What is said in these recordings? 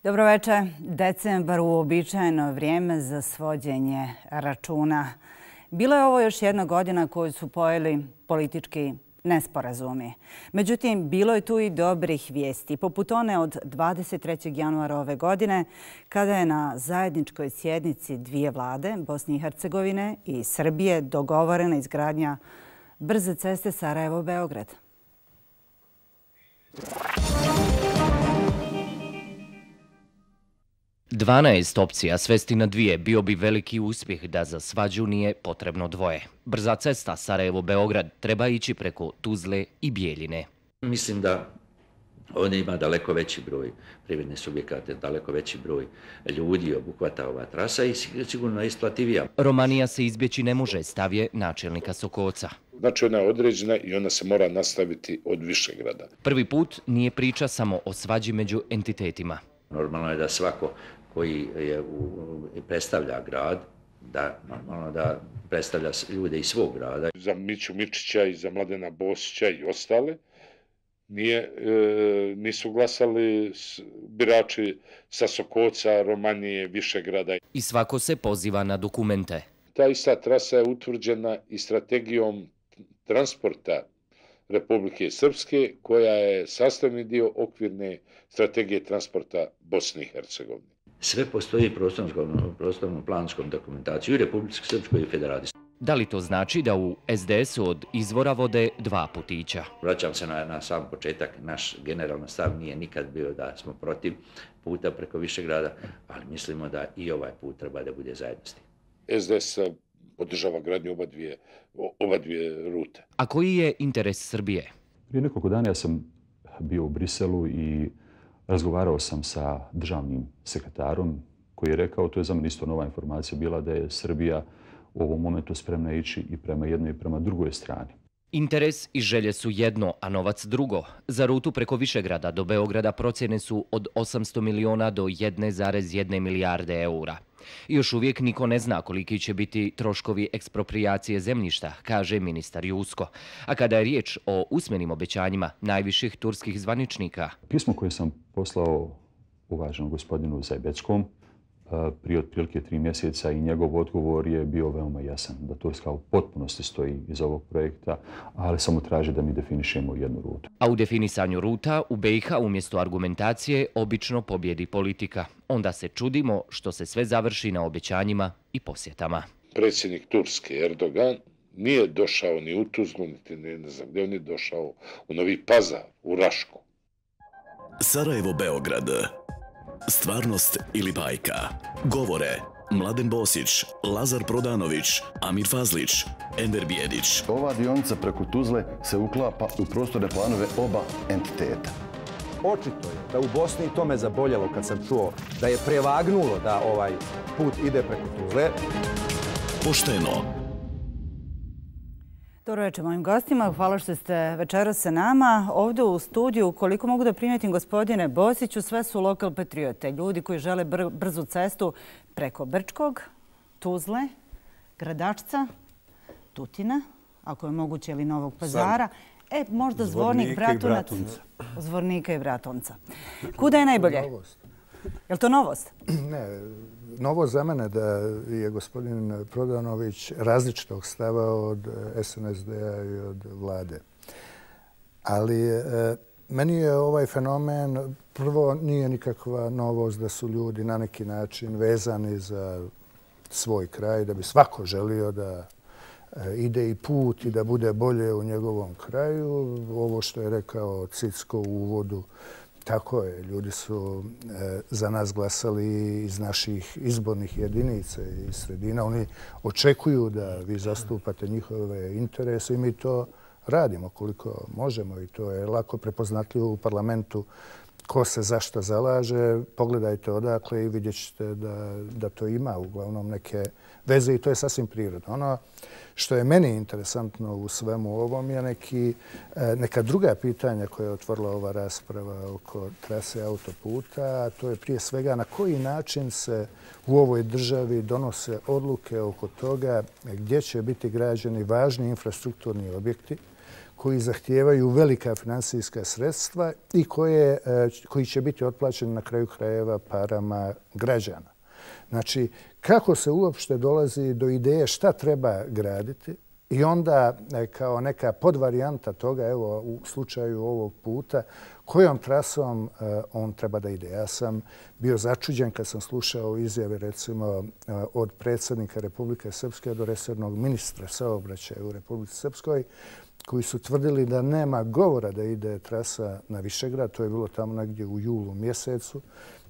Dobroveče. Decembar, uobičajeno vrijeme za svođenje računa. Bilo je ovo još jedna godina koju su pojeli politički nesporazumi. Međutim, bilo je tu i dobrih vijesti, poput one od 23. januara ove godine, kada je na zajedničkoj sjednici dvije vlade, Bosne i Hercegovine i Srbije, dogovorena izgradnja brze ceste Sarajevo-Beograd. 12 opcija svesti na dvije bio bi veliki uspjeh da za svađu nije potrebno dvoje. Brza cesta Sarajevo-Beograd treba ići preko Tuzle i Bijeljine. Mislim da ovdje ima daleko veći broj privrednih subjekata, daleko veći broj ljudi obuhvata ova trasa i sigurno isplativija. Romanija se izbjeći ne može, stav je načelnika Sokoca. Znači ona je određena i ona se mora nastaviti od Višegrada. Prvi put nije priča samo o svađi među entitetima. Normalno je da svako koji predstavlja grad, da predstavlja ljude iz svog grada. Za Miću Mičića i za Mladena Bosića i ostale nisu glasali birači sa Sokoca, Romanije, Višegrada. I svako se poziva na dokumente. Ta ista trasa je utvrđena i strategijom transporta Republike Srpske, koja je sastavni dio okvirne strategije transporta Bosne i Hercegovine. Sve postoji prostornom planskom dokumentaciju i Republike Srpskoj i Federaciji. Da li to znači da u SDS-u od izvora vode dva putića? Vraćam se na sam početak. Naš generalni stav nije nikad bio da smo protiv puta preko Višegrada, ali mislimo da i ovaj put treba da bude zajednosti. SDS podržava gradnju oba dvije rute. A koji je interes Srbije? Prije nekoliko dana ja sam bio u Briselu i razgovarao sam sa državnim sekretarom koji je rekao, to je za mene isto nova informacija bila, da je Srbija u ovom momentu spremna ići i prema jednoj i prema drugoj strani. Interes i želje su jedno, a novac drugo. Za rutu preko Višegrada do Beograda procjene su od 800 miliona do 1,1 milijarde eura. Još uvijek niko ne zna koliki će biti troškovi eksproprijacije zemljišta, kaže ministar Jusko. A kada je riječ o usmenim obećanjima najviših turskih zvaničnika. Pismo koje sam poslao uvaženom gospodinu Zajbeckom prije otprilike 3 mjeseca i njegov odgovor je bio veoma jasan, da Turska u potpunosti stoji iz ovog projekta, ali samo traži da mi definišemo jednu rutu. A u definisanju ruta u BiH umjesto argumentacije obično pobjedi politika. Onda se čudimo što se sve završi na obećanjima i posjetama. Predsjednik Turske Erdogan nije došao ni u Tuzlu, niti ne znam gdje, on je došao u Novi Pazar, u Rašku. Sarajevo-Beograd. Stvarnost ili bajka. Govore Mladen Bosić, Lazar Prodanović, Amir Fazlić, Enver Bijedić. Ova dionica preko Tuzle se uklapa u prostorne planove oba entiteta. Očito je da u Bosni, to me zaboljelo kad sam čuo da je prevagnulo da ovaj put ide preko Tuzle. Pošteno. Dobro večer mojim gostima. Hvala što ste večeras sa nama. Ovdje u studiju, koliko mogu da primijetim gospodine Bosiću, sve su lokal patriote. Ljudi koji žele brzu cestu preko Brčkog, Tuzle, Gradačca, Tutina, ako je moguće, ili Novog Pazara. Možda Zvornika i Bratunca. Kuda je najbolje? Je li to novost? Ne, novost za mene da je gospodin Prodanović različitog stava od SNSD-a i od vlade. Ali meni je ovaj fenomen, prvo nije nikakva novost da su ljudi na neki način vezani za svoj kraj, da bi svako želio da ide i put i da bude bolje u njegovom kraju. Ovo što je rekao Cicko u uvodu, tako je. Ljudi su za nas glasali iz naših izbornih jedinica i sredina. Oni očekuju da vi zastupate njihove interese i mi to radimo koliko možemo i to je lako prepoznatljivo u parlamentu ko se zašto zalaže, pogledajte odakle i vidjet ćete da to ima uglavnom neke veze i to je sasvim prirodno. Ono što je meni interesantno u svemu ovom je neka druga pitanja koja je otvorila ova rasprava oko trase autoputa, a to je prije svega na koji način se u ovoj državi donose odluke oko toga gdje će biti građeni važni infrastrukturni objekti koji zahtijevaju velika finansijska sredstva i koji će biti otplaćeni na kraju krajeva parama građana. Znači, kako se uopšte dolazi do ideje šta treba graditi i onda kao neka podvarijanta toga, evo u slučaju ovog puta, kojom trasom on treba da ide. Ja sam bio začuđen kad sam slušao izjave recimo od predsjednika Republike Srpske do resornog ministra saobraćaja u Republici Srpskoj, koji su tvrdili da nema govora da ide trasa na Višegrad. To je bilo tamo negdje u julu mjesecu.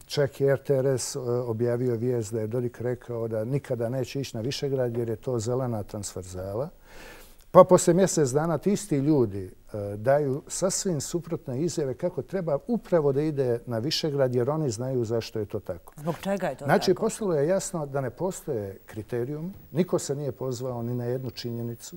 Čak je RTRS objavio vijest da je Dodik rekao da nikada neće ići na Višegrad jer je to zelena transverzala. Pa poslije mjesec dana ti isti ljudi daju sasvim suprotne izjave kako treba upravo da ide na Višegrad jer oni znaju zašto je to tako. Zbog čega je to tako? Znači, postalo je jasno da ne postoje kriterijum. Niko se nije pozvao ni na jednu činjenicu.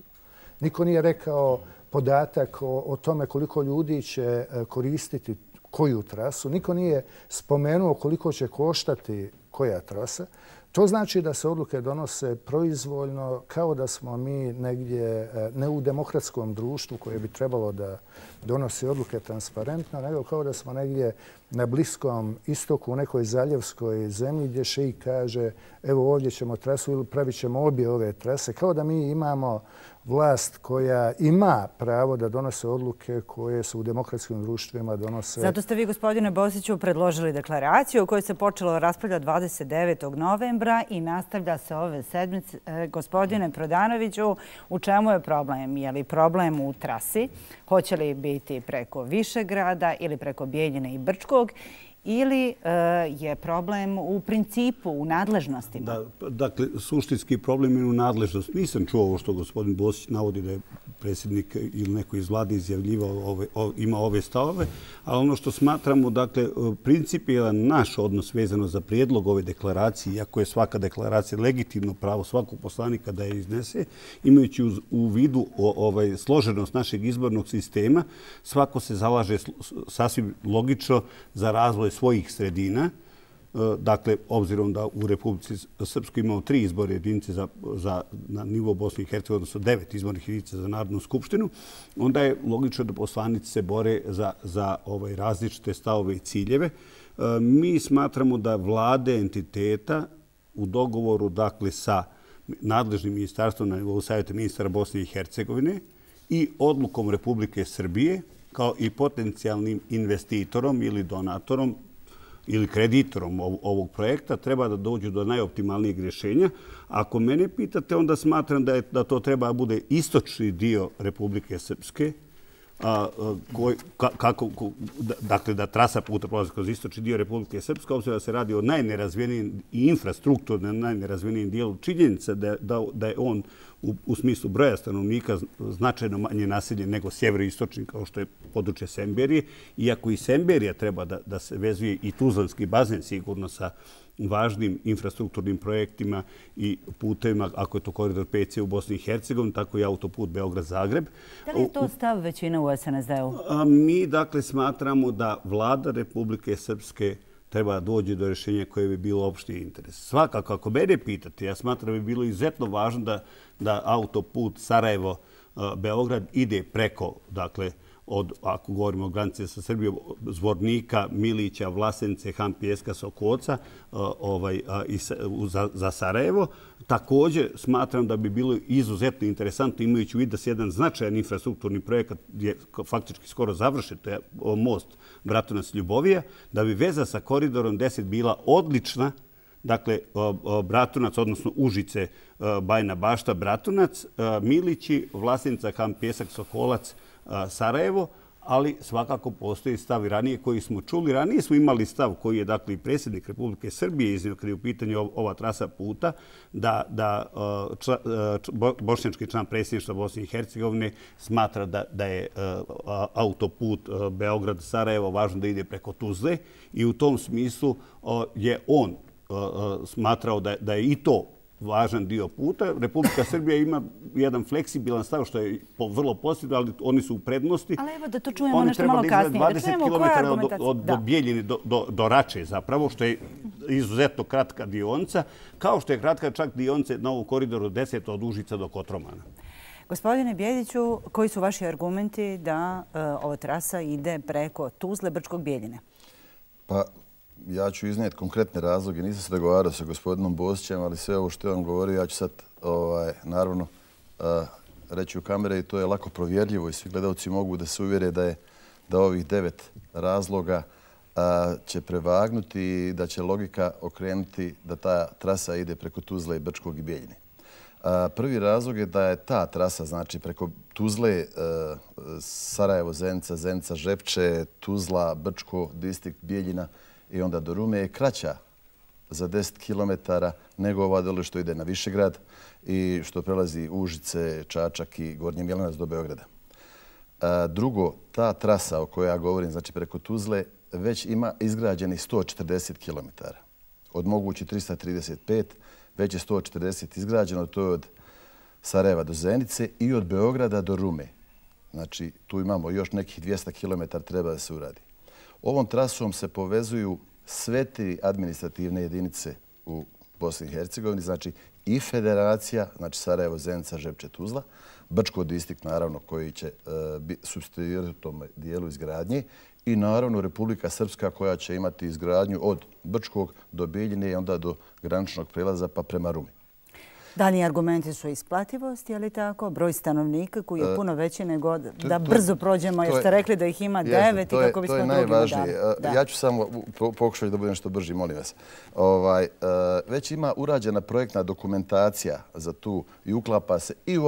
Niko nije rekao podatak o tome koliko ljudi će koristiti koju trasu. Niko nije spomenuo koliko će koštati koja trasa. To znači da se odluke donose proizvoljno kao da smo mi negdje ne u demokratskom društvu koje bi trebalo da donosi odluke transparentno, nego kao da smo negdje na Bliskom istoku u nekoj zaljevskoj zemlji gdje šeik kaže evo ovdje ćemo trasu ili pravit ćemo obje ove trase. Kao da mi imamo vlast koja ima pravo da donose odluke koje su u demokratskim društvima donose. Zato ste vi, gospodine Bosiću, predložili deklaraciju o kojoj se počelo raspravljati 29. novembra i nastavlja se ove sedmice. Gospodine Prodanoviću, u čemu je problem? Je li problem u trasi? Hoće li biti preko Višegrada ili preko Bijeljine i Brčkog? Ili je problem u principu, u nadležnostima? Dakle, suštinski problem je u nadležnosti. Nisam čuo ovo što gospodin Bosić navodi da je predsjednik ili neko iz vlade izjavljivao, ima ove stavove, ali ono što smatramo, dakle, principijelan naš odnos vezano za prijedlog ove deklaracije, iako je svaka deklaracija legitimno pravo svakog poslanika da je iznese, imajući u vidu složenost našeg izbornog sistema, svako se zalaže sasvim logično za razvoj svojih sredina. Dakle, obzirom da u Republici Srpskoj imamo 3 izborne jedinice na nivou Bosne i Hercegovine, odnosno 9 izbornih jedinica za Narodnu skupštinu, onda je logično da poslanici se bore za različite stavove i ciljeve. Mi smatramo da vlade entiteta u dogovoru, dakle, sa nadležnim ministarstvom na nivou Savjeta ministara Bosne i Hercegovine i odlukom Republike Srbije, kao i potencijalnim investitorom ili donatorom ili kreditorom ovog projekta, treba da dođu do najoptimalnijeg rješenja. Ako mene pitate, onda smatram da to treba da bude istočni dio Republike Srpske, dakle da trasa puta prolazi kroz istočni dio Republike Srpske, obzirom da se radi o najnerazvijenijem i infrastrukturno najnerazvijenijem dijelu. Činjenica da je on u smislu broja stanovnika značajno manje naseljen nego sjeveroistočni, kao što je područje Semberije. Iako i Semberija treba da se vezuje i Tuzlanski bazen sigurno sa važnim infrastrukturnim projektima i putevima, ako je to koridor 5C u Bosni i Hercegovini, tako i autoput Beograd-Zagreb. Da li je to stav većine u SNSD-u? Mi, dakle, smatramo da vlada Republike Srpske treba doći do rješenja koje bi bilo opšti interes. Svakako, ako mene pitate, ja smatram da bi bilo izuzetno važno da autoput Sarajevo-Beograd ide preko, dakle, ako govorimo o granici sa Srbijom, Zvornika, Milića, Vlasence, Han Pijeska, Sokoca za Sarajevo. Također smatram da bi bilo izuzetno interesantno, imajući u vidu da se jedan značajan infrastrukturni projekat je faktički skoro završen, to je most Bratunac-Ljubovija, da bi veza sa koridorom 10 bila odlična. Dakle, Bratunac, odnosno Užice, Bajna Bašta, Bratunac, Milići, Vlasenica, Han Pijesak, Sokolac, Sarajevo, ali svakako postoji stav i ranije koji smo čuli. Ranije smo imali stav koji je dakle i predsjednik Republike Srbije iznio kada je u pitanju ova trasa puta, da bošnjački član predsjedništva Bosne i Hercegovine smatra da je autoput Beograd-Sarajevo važno da ide preko Tuzle i u tom smislu je on smatrao da je i to važan dio puta. Republika Srbija ima jedan fleksibilan stav što je vrlo pozitivno, ali oni su u prednosti. Ali evo da to čujemo nešto malo kasnije. Oni treba da izgleda 20 km do Bijeljine, do Rače zapravo, što je izuzetno kratka dionica, kao što je kratka čak dionica na ovom koridoru 10 od Užica do Kotromana. Gospodine Bjeliću, koji su vaši argumenti da ova trasa ide preko Tuzle, Brčkog, Bijeljine? Pa, ja ću iznijeti konkretne razloge. Nisam se dogovarao sa gospodinom Bosićem, ali sve ovo što je on govorio, ja ću sad naravno reći u kamere i to je lako provjerljivo i svi gledalci mogu da se uvjere da ovih 9 razloga će prevagnuti i da će logika okrenuti da ta trasa ide preko Tuzle i Brčkog i Bijeljine. Prvi razlog je da je ta trasa, znači preko Tuzle, Sarajevo, Zenica, Zenica, Žepče, Tuzla, Brčko, distrikt Bijeljina i onda do Rume je kraća za 10 km nego ova dole što ide na Višegrad i što prelazi Užice, Čačak i Gornji Milanac do Beograda. Drugo, ta trasa o kojoj ja govorim, znači preko Tuzle, već ima izgrađenih 140 km. Od mogući 335, već je 140 izgrađeno, to je od Sarajeva do Zenice i od Beograda do Rume. Znači, tu imamo još nekih 200 km treba da se uradi. Ovom trasom se povezuju sve 3 administrativne jedinice u Bosni i Hercegovini, znači i federacija, znači Sarajevo, Zenica, Žepče, Tuzla, Brčko distrikt, naravno, koji će supstituirati u tom dijelu izgradnje i naravno Republika Srpska koja će imati izgradnju od Brčkog do Bijeljine i onda do graničnog prelaza pa prema Rumi. Dalji argumenti su isplativost, je li tako? Broj stanovnika koji je puno veći nego da brzo prođemo, jer ste rekli da ih ima 9 i kako bismo drugima dali. To je najvažnije. Ja ću samo pokušati da budem što brži, molim vas. Već ima urađena projektna dokumentacija za tu i uklapa se i u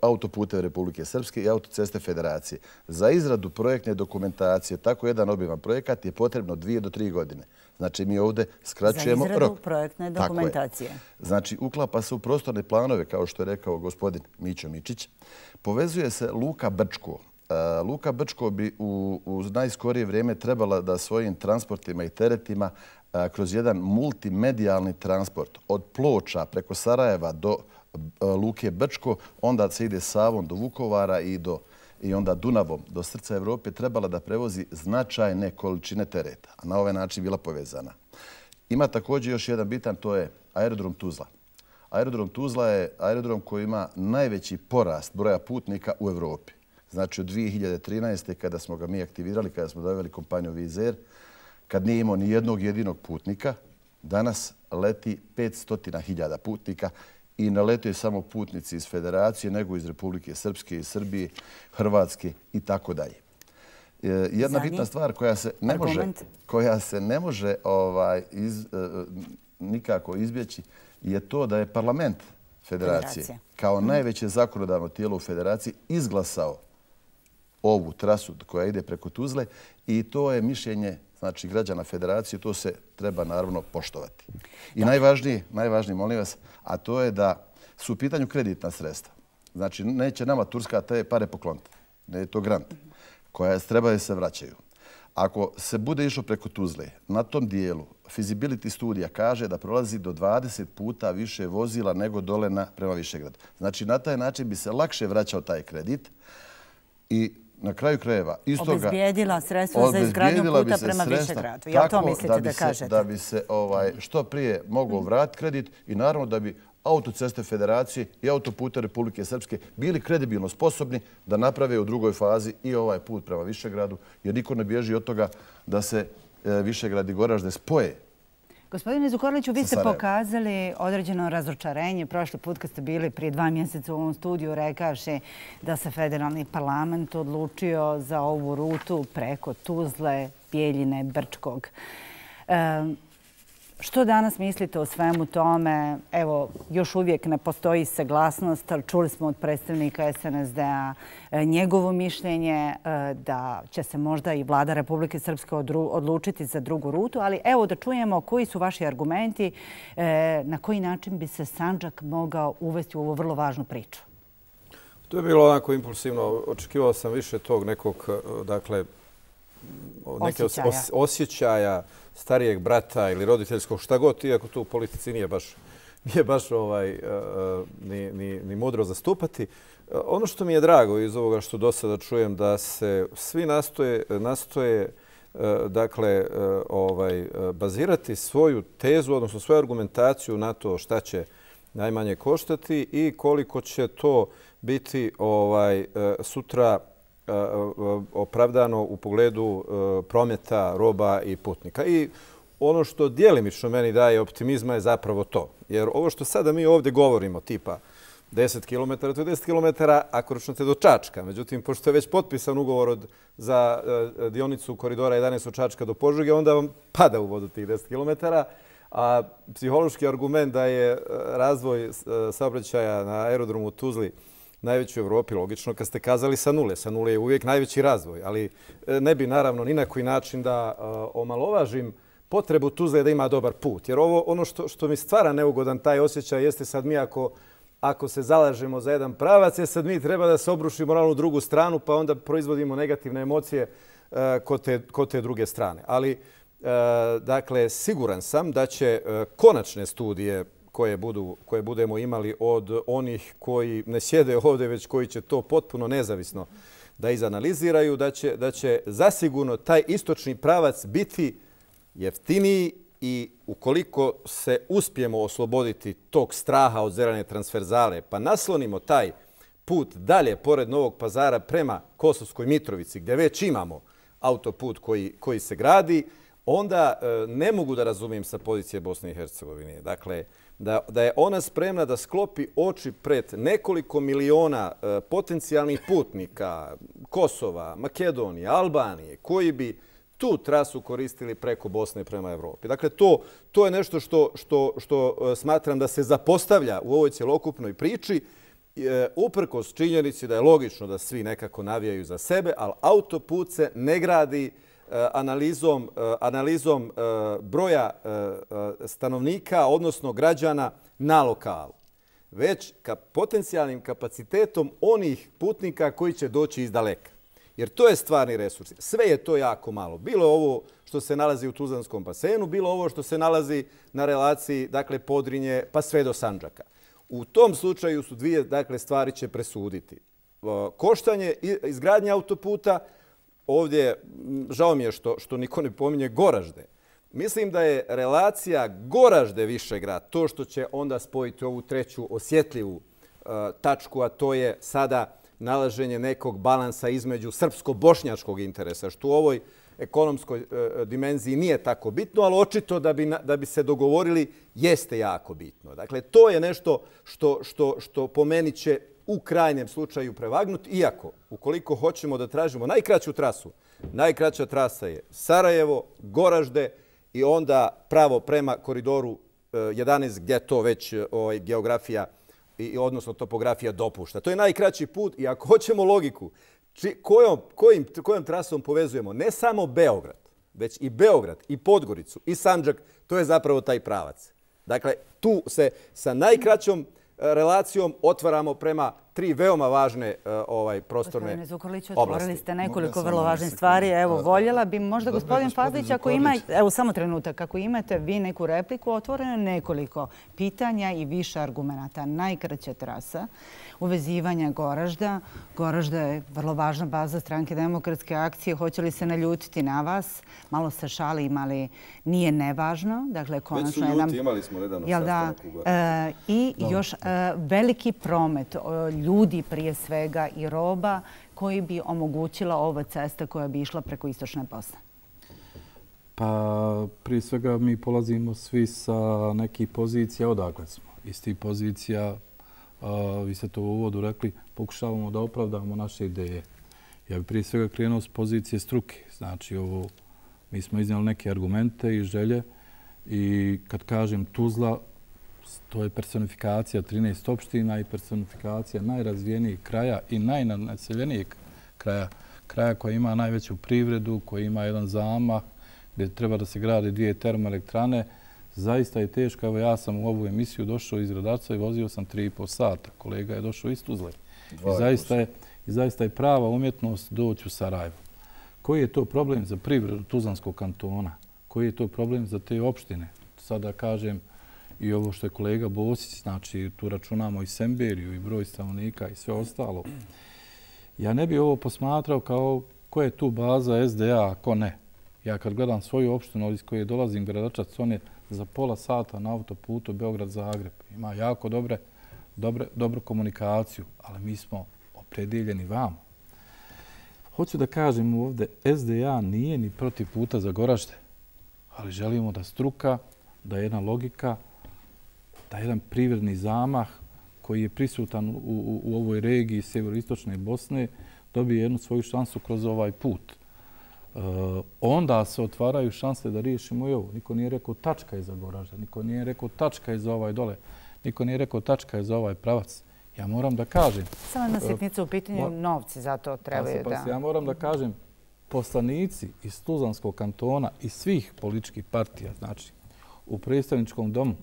autoputeve Republike Srpske i autoceste Federacije. Za izradu projektne dokumentacije, tako jedan obiman projekat je potrebno 2 do 3 godine. Znači, mi ovdje skraćujemo rok. Za izradu projektne dokumentacije. Znači, uklapa se u prostorne planove, kao što je rekao gospodin Mićo Mičić. Povezuje se Luka Brčko. Luka Brčko bi u najskorije vrijeme trebala da svojim transportima i teretima kroz jedan multimedijalni transport od Ploča preko Sarajeva do Luke Brčko, onda se ide Savom do Vukovara i onda Dunavom do srca Evrope trebala da prevozi značajne količine tereta, a na ovaj način bila povezana. Ima također još jedan bitan, to je aerodrom Tuzla. Aerodrom Tuzla je aerodrom koji ima najveći porast broja putnika u Evropi. Znači od 2013. kada smo ga mi aktivirali, kada smo doveli kompaniju Wizz Air, kad nije imao ni jednog jedinog putnika, danas leti 500.000 putnika i ne letuje samo putnici iz Federacije, nego iz Republike Srpske, iz Srbije, Hrvatske i tako dalje. Jedna bitna stvar koja se ne može nikako izbjeći je to da je parlament Federacije kao najveće zakonodavno tijelo u Federaciji izglasao ovu trasu koja ide preko Tuzle i to je mišljenje znači građana Federacije, to se treba naravno poštovati. I najvažnije, molim vas, a to je da su u pitanju kreditna sredstva. Znači, neće nama Turska te pare pokloniti. Ne je to grant koja treba da se vraćaju. Ako se bude išlo preko Tuzle, na tom dijelu feasibility studija kaže da prolazi do 20 puta više vozila nego dole prema Višegradu. Znači, na taj način bi se lakše vraćao taj kredit i na kraju krajeva obezbijedila sredstva za izgradnju puta prema Višegradu. Ja to mislite da kažete? Da bi se što prije mogao vratiti kredit i naravno da bi autoceste Federacije i autopute Republike Srpske bili kredibilno sposobni da naprave u drugoj fazi i ovaj put prema Višegradu, jer niko ne bježi od toga da se Višegrad i Goražde spoje. Gospodine Zukorliću, vi ste pokazali određeno razočarenje. Prošli put kad ste bili prije 2 mjeseca u ovom studiju rekavši da se federalni parlament odlučio za ovu rutu preko Tuzle, Bijeljine, Brčkog. Što danas mislite o svemu tome? Evo, još uvijek ne postoji saglasnost, ali čuli smo od predstavnika SNSD-a njegovo mišljenje da će se možda i vlada Republike Srpske odlučiti za drugu rutu, ali evo da čujemo koji su vaši argumenti, na koji način bi se Sandžak mogao uvesti u ovu vrlo važnu priču. To je bilo onako impulsivno. Očekivao sam više tog nekog, dakle, neke osjećaja starijeg brata ili roditeljskog, šta god, iako to u politici nije baš ni mudro zastupati. Ono što mi je drago iz ovoga što do sada čujem, da se svi nastoje dakle, bazirati svoju tezu, odnosno svoju argumentaciju na to šta će najmanje koštati i koliko će to biti sutra opravdano u pogledu prometa roba i putnika. I ono što djelimično meni daje optimizma je zapravo to. Jer ovo što sada mi ovdje govorimo, tipa 10 km, to je 10 km ako računate do Čačka. Međutim, pošto je već potpisan ugovor za dionicu koridora 11 od Čačka do Požege, onda vam pada u vodu tih 10 km. A psihološki argument da je razvoj saobraćaja na aerodromu u Tuzli najveći u Evropi, logično, kad ste kazali sa nule. Sa nule je uvijek najveći razvoj, ali ne bi naravno ni na koji način da omalovažim potrebu Tuzle da ima dobar put. Jer ono što mi stvara neugodan taj osjećaj jeste sad mi ako se zalažemo za jedan pravac, sad mi treba da se obrušimo na onu drugu stranu, pa onda proizvodimo negativne emocije kod te druge strane. Ali, dakle, siguran sam da će konačne studije koje budemo imali od onih koji ne sjede ovdje, već koji će to potpuno nezavisno da izanaliziraju, da će zasigurno taj istočni pravac biti jeftiniji i ukoliko se uspijemo osloboditi tog straha od zelene transverzale, pa naslonimo taj put dalje pored Novog Pazara prema Kosovskoj Mitrovici, gdje već imamo autoput koji se gradi, onda ne mogu da razumijem sa pozicije Bosne i Hercegovine. Dakle, da je ona spremna da sklopi oči pred nekoliko miliona potencijalnih putnika Kosova, Makedonije, Albanije, koji bi tu trasu koristili preko Bosne prema Evropi. Dakle, to je nešto što smatram da se zapostavlja u ovoj cjelokupnoj priči, uprkos činjenici da je logično da svi nekako navijaju za sebe, ali autoput se ne gradi analizom broja stanovnika, odnosno građana na lokalu, već potencijalnim kapacitetom onih putnika koji će doći iz daleka. Jer to je stvarni resurs. Sve je to jako malo. Bilo je ovo što se nalazi u Tuzlanskom basenu, bilo ovo što se nalazi na relaciji, dakle, Podrinje pa sve do Sandžaka. U tom slučaju su dvije, dakle, stvari će presuditi. Koštanje izgradnje autoputa, ovdje, žao mi je što niko ne pominje Goražde. Mislim da je relacija Goražde-Višegrad to što će onda spojiti ovu treću osjetljivu tačku, a to je sada nalaženje nekog balansa između srpsko-bošnjačkog interesa, što u ovoj ekonomskoj dimenziji nije tako bitno, ali očito da bi se dogovorili jeste jako bitno. Dakle, to je nešto što po meni će u krajnjem slučaju prevagnuti, iako ukoliko hoćemo da tražimo najkraću trasu, najkraća trasa je Sarajevo, Goražde i onda pravo prema koridoru 11 gdje to već geografija odnosno topografija dopušta. To je najkraći put i ako hoćemo logiku, kojom trasom povezujemo ne samo Beograd, već i Beograd, i Podgoricu, i Sandžak, to je zapravo taj pravac. Dakle, tu se sa najkraćom relacijom otvaramo prema tri veoma važne prostorne oblasti. Gospodine Zukorliću, otvorili ste nekoliko vrlo važnih stvari. Evo, voljela bi možda gospodin Fazlić, ako ima, evo samo trenutak, ako imate vi neku repliku, otvoreno nekoliko pitanja i više argumenta. Najkraća trasa uvezivanja Goražda. Goražda je vrlo važna baza Stranke demokratske akcije. Hoće li se naljutiti na vas? Malo se šalim, ali nije nevažno. Dakle, konačno već su ljuti, imali smo nedavno sastanak u I još veliki promet ljudi prije svega i roba koji bi omogućila ova cesta koja bi išla preko istočne Bosne? Pa prije svega mi polazimo svi sa nekih pozicija odakle smo. Iz tih pozicija, vi ste to u uvodu rekli, pokušavamo da opravdamo naše ideje. Ja bih prije svega krenuo s pozicije struke. Znači, mi smo iznijeli neke argumente i želje I kad kažem Tuzla, to je personifikacija 13 opština i personifikacija najrazvijenijeg kraja i najnaseljenijeg kraja. Kraja koja ima najveću privredu, koja ima jedan zamah, gdje treba da se grade 2 termoelektrane. Zaista je teško. Evo, ja sam u ovu emisiju došao iz Gradarca i vozio sam 3,5 sata. Kolega je došao iz Tuzle. I zaista je prava umjetnost doći u Sarajevo. Koji je to problem za privredu Tuzlanskog kantona? Koji je to problem za te opštine? Sada kažem i ovo što je kolega Bosić, znači tu računamo i Semberiju i broj stanovnika i sve ostalo. Ja ne bih ovo posmatrao kao ko je tu baza SDA, a ko ne. Ja kad gledam svoju opštinu iz koje dolazim, Gračac, on je za pola sata na autoputu Beograd-Zagreb. Ima jako dobru komunikaciju, ali mi smo opredeljeni vamo. Hoću da kažem ovdje, SDA nije ni protiv puta za Goražde, ali želimo da struka, da jedna logika, da jedan privredni zamah koji je prisutan u ovoj regiji sjeveroistočne Bosne dobije jednu svoju šansu kroz ovaj put. Onda se otvaraju šanse da riješimo i ovo. Niko nije rekao tačka je za Goražde, niko nije rekao tačka je za ovaj dole, niko nije rekao tačka je za ovaj pravac. Ja moram da kažem... Samo jedna sitnica u pitanju, novci za to trebaju da... Ja moram da kažem, poslanici iz Tuzlanskog kantona i svih političkih partija, znači u predstavničkom domu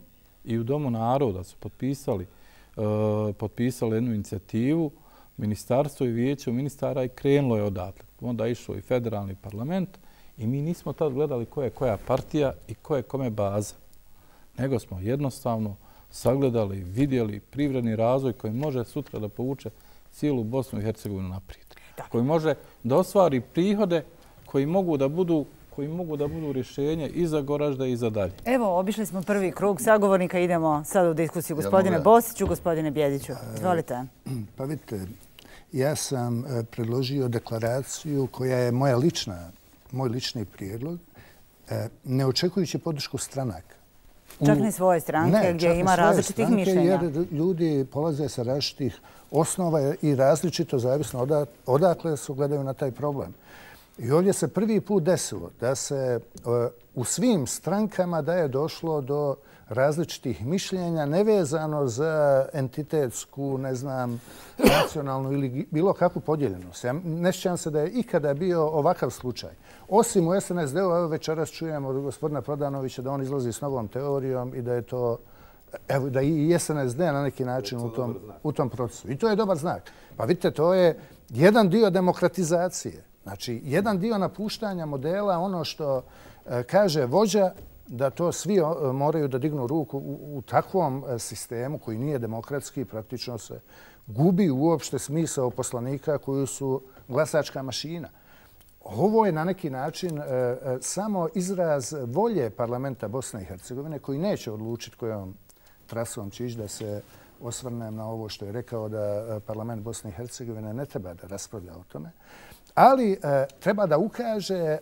i u Domu naroda su potpisali jednu inicijativu, ministarstvo i vijeće ministara i krenulo je odatle. Onda je išao i federalni parlament i mi nismo tad gledali ko je koja partija i ko je kome baza. Nego smo jednostavno sagledali, vidjeli privredni razvoj koji može sutra da povuče cijelu Bosnu i Hercegovinu naprijed. Koji može da ostvari prihode koji mogu da budu rješenje i za Goražde i za dalje. Evo, obišli smo prvi krug sagovornika. Idemo sad u diskusiju. Gospodine Bosiću, gospodine Bjediću. Izvolite. Pa vidite, ja sam predložio deklaraciju koja je moj lični prijedlog, ne očekujući podršku stranaka. Čak ni svoje stranke gdje ima različitih mišljenja. Jer ljudi polaze sa različitih osnova i različito, zavisno odakle su gledaju na taj problem. I ovdje se prvi put desilo da se u svim strankama da je došlo do različitih mišljenja nevezano za entitetsku, ne znam, nacionalnu ili bilo kakvu podjeljenost. Ja ne sjećam se da je ikada bio ovakav slučaj. Osim u SNSD-u, evo večeras čujemo od gospodina Prodanovića da on izlazi s novom teorijom i da je to, evo, da i SNSD na neki način u tom procesu. I to je dobar znak. Pa vidite, to je jedan dio demokratizacije. Znači, jedan dio napuštanja modela, ono što kaže vođa, da to svi moraju da dignu ruku u takvom sistemu koji nije demokratski, praktično se gubi uopšte smisao poslanika koji su glasačka mašina. Ovo je na neki način samo izraz volje parlamenta Bosne i Hercegovine koji neće odlučiti kojom trasom će ići, da se osvrnem na ovo što je rekao da parlament Bosne i Hercegovine ne treba da raspravlja o tome, ali treba da ukaže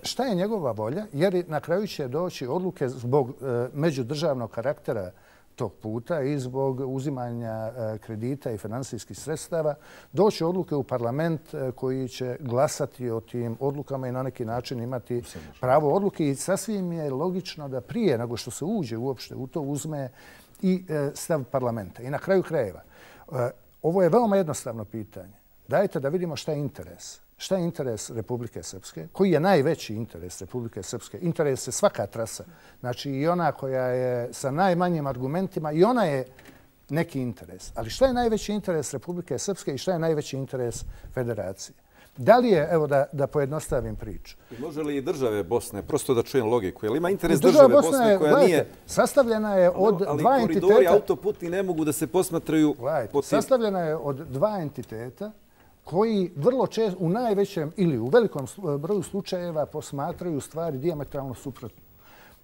šta je njegova volja, jer na kraju će doći odluke zbog međudržavnog karaktera tog puta i zbog uzimanja kredita i finansijskih sredstava, doći odluke u parlament koji će glasati o tim odlukama i na neki način imati pravo odluke. I sasvim je logično da prije nego što se uđe uopšte u to uzme i stav parlamenta. I na kraju krajeva, ovo je veoma jednostavno pitanje. Dajte da vidimo šta je interes. Šta je interes Republike Srpske? Koji je najveći interes Republike Srpske? Interes je svaka trasa. Znači i ona koja je sa najmanjim argumentima i ona je neki interes. Ali šta je najveći interes Republike Srpske i šta je najveći interes Federacije? Da li je, evo da pojednostavim priču. Može li i države Bosne, prosto da čujem logiku, je li ima interes države Bosne koja nije... Sastavljena je od dva entiteta... Ali koridori autoputni ne mogu da se posmatraju... Sastavljena je od dva entiteta koji vrlo često, u najvećem ili u velikom broju slučajeva posmatraju stvari dijametralno suprotno.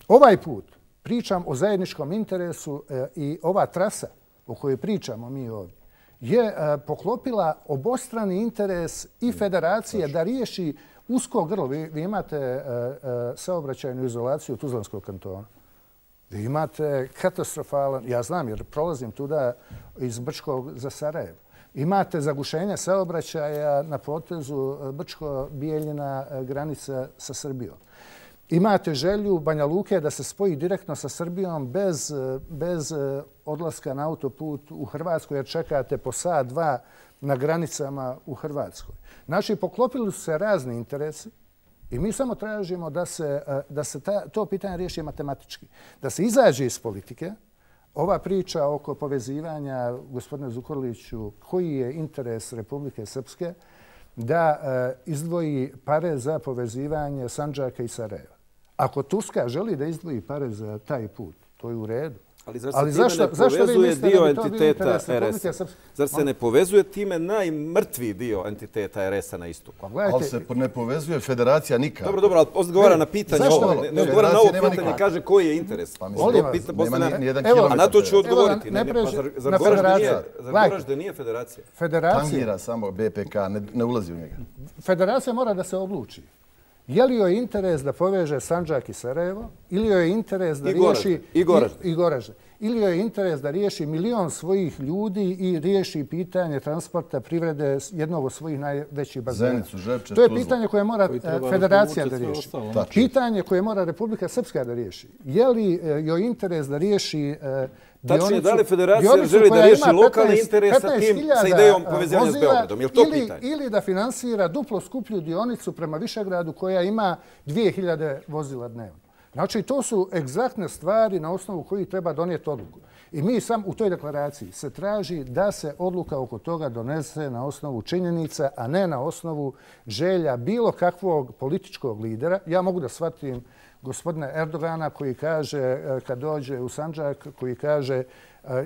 Ovaj put pričam o zajedničkom interesu i ova trasa o kojoj pričamo mi ovdje je poklopila obostrani interes i Federacije da riješi usko grlo. Vi imate saobraćajnu izolaciju Tuzlanskog kantona. Vi imate katastrofalan, ja znam jer prolazim tuda iz Brčkog za Sarajevo. Imate zagušenje saobraćaja na potezu Brčko-Bijeljina granica sa Srbijom. Imate želju Banja Luke da se spoji direktno sa Srbijom bez odlaska na autoput u Hrvatsku, jer čekate po sat, dva na granicama u Hrvatskoj. Znači, poklopili su se razni interesi i mi samo tražimo da se to pitanje riješi matematički. Da se izađe iz politike. Ova priča oko povezivanja, gospodine Zukorliću, koji je interes Republike Srpske da izdvoji pare za povezivanje Sandžaka i Sarajeva. Ako Turska želi da izdvoji pare za taj put, to je u redu. Ali zašto povezuje dio entiteta RS-a? Zar se ne povezuje time najmrtviji dio entiteta RS-a na istoku? Ali se ne povezuje federacija nikad. Dobro, ali odgovara na pitanje ovo. Ne odgovara na ovo pitanje, kaže koji je interes. A na to ću odgovoriti. Zar Goražde nije federacija? Tangira samo BPK, ne ulazi u njega. Federacija mora da se odluči. Je li joj interes da poveže Sandžak i Sarajevo ili joj je interes da riješi i Goražde? Ili joj je interes da riješi milion svojih ljudi i riješi pitanje transporta privrede jednog od svojih najvećih bazena? Zenicu, Žepče, to je pitanje koje mora federacija da riješi. Pitanje koje mora Republika Srpska da riješi. Je li joj interes da riješi tačnije, da li federacija želi da riješi lokalni interes sa tim, sa idejom povezivanja s Beogradom? Je li to pitanje? Ili da finansira duplo skuplju dionicu prema Višegradu koja ima 2000 vozila dnevno. Znači, to su egzaktne stvari na osnovu kojih treba donijeti odluku. I mi sam u toj deklaraciji se traži da se odluka oko toga donese na osnovu činjenica, a ne na osnovu želja bilo kakvog političkog lidera. Ja mogu da shvatim gospodina Erdogana koji kaže, kad dođe u Sandžak, koji kaže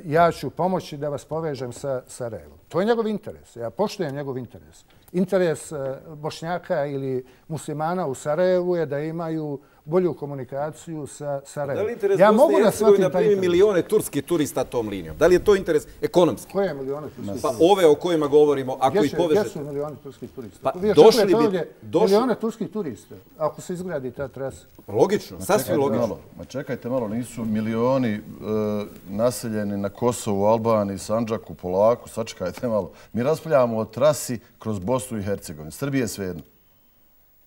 ja ću pomoći da vas povežem sa Sarajevom. To je njegov interes. Ja poštujem njegov interes. Interes Bošnjaka ili muslimana u Sarajevu je da imaju bolju komunikaciju sa Sarajevom. Da li interes Bosne i Hercegovine da primi milione turskih turista tom linijom? Da li je to interes ekonomski? Koje milione turskih turista? Pa ove o kojima govorimo, ako ih povežete. Gdje su milioni turskih turista? Pa došli bi... Milione turskih turista, ako se izgradi ta trasa. Logično, sasvim logično. Ma čekajte malo, nisu milioni naseljeni na Kosovu, Albaniji, Sandžaku, Polaku, sačekajte malo. Mi raspravljamo o trasi kroz Bosnu i Hercegovinu. Srbije je svejedno.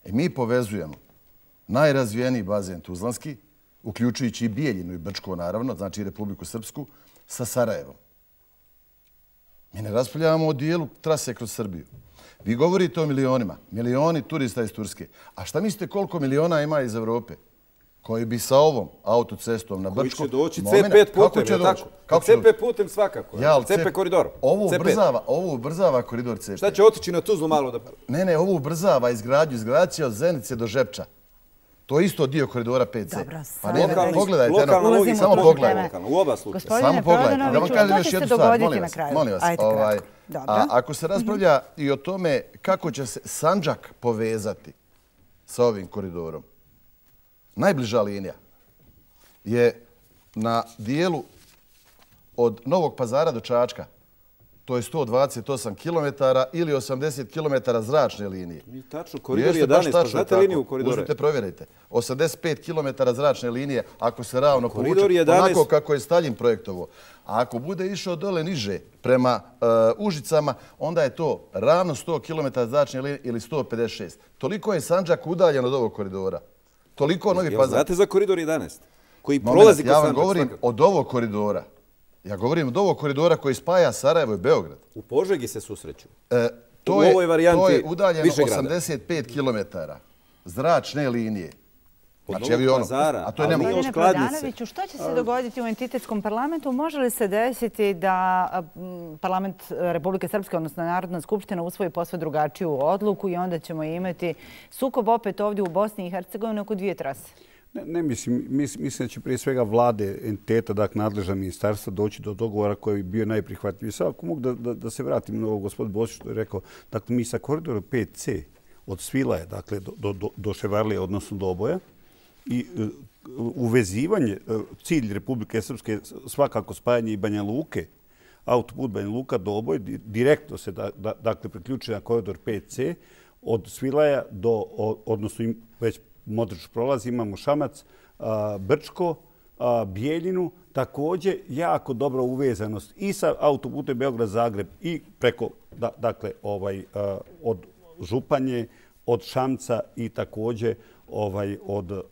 Mi povezujemo najrazvijeniji bazen Tuzlanski, uključujući i Bijeljinu i Brčko, naravno, znači i Republiku Srpsku, sa Sarajevom. Mi ne raspravljamo o dijelu trase kroz Srbiju. Vi govorite o milionima, milioni turista iz Turske. A šta mislite koliko miliona ima iz Evrope? Koji bi sa ovom autocestom na Brčko... Koji će doći C5 putem, je li tako? C5 putem svakako. C5 koridor. Ovo ubrzava koridor C5. Šta će otići na Tuzlu malo da... Ne, ovo ubrzava izgradnju. Izgradnja od Zenice do Žepča. To je isto dio koridora 5C. Pa pogledajte. Samo pogledajte. U oba slučaja. Samo pogledajte. Da vam kažem još jednu stvar. Molim vas. Ako se raspravlja i o tome kako će se Sandžak povezati sa ovim koridorom, najbliža linija je na dijelu od Novog Pazara do Čačka. To je 128 km ili 80 km zračne linije. Tačno, koridor 11, pa znate liniju koridora? Uzmite, provjerajte. 85 km zračne linije ako se ravno povuče, onako kako je Stalin projektovo. A ako bude išao dole niže prema Užicama, onda je to ravno 100 km zračne linije ili 156. Toliko je Sandžak udaljen od ovog koridora. Toliko Novi Pazar. Znate za koridor 11? Koji prolazi kroz Sandžak? Ja vam govorim od ovog koridora. Ja govorim od ovog koridora koji spaja Sarajevo i Beograd. U Požegi se susreću. To je udaljeno 85 km zračne linije. Znači, a to je nemoguće. Gospodine Prodanoviću, što će se dogoditi u entitetskom parlamentu? Može li se desiti da parlament Republike Srpske, odnosno Narodna skupština, usvoji posve drugačiju odluku i onda ćemo imati sukob opet ovdje u Bosni i Hercegovini oko dvije trase? Ne mislim da će prije svega vlade, entiteta, dakle nadležna ministarstva doći do dogovora koji bi bio najprihvatljiviji. Sad ako mogu da se vratim na ovo gospodin Bosić što je rekao, dakle mi sa koridorom 5C od Svilaja, dakle do Ševarlije, odnosno do Oboja, i uvezivanje, cilj Republike Srpske svakako spajanje i Banja Luke, autoput Banja Luka do Oboja, direktno se dakle priključuje na koridor 5C od Svilaja do, odnosno već Modrić prolazi, imamo Šamac, Brčko, Bijeljinu, također jako dobra uvezanost i sa autoputem Beograd-Zagreb i preko, dakle, od Županje, od Šamca i također od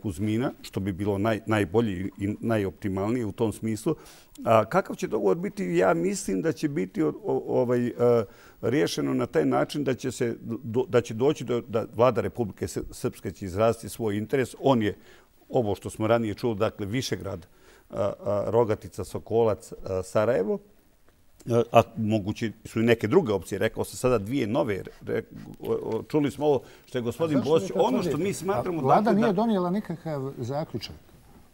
Kuzmina, što bi bilo najbolje i najoptimalnije u tom smislu. Kakav će dogovor biti? Ja mislim da će biti riješeno na taj način da će doći da vlada Republike Srpske će izraziti svoj interes. On je, ovo što smo ranije čuli, dakle Višegrad, Rogatica, Sokolac, Sarajevo, a moguće su i neke druge opcije. Rekao sam sada dvije nove. Čuli smo ovo što je gospodin Bosić. Ono što mi smatramo... Vlada nije donijela nikakav zaključak.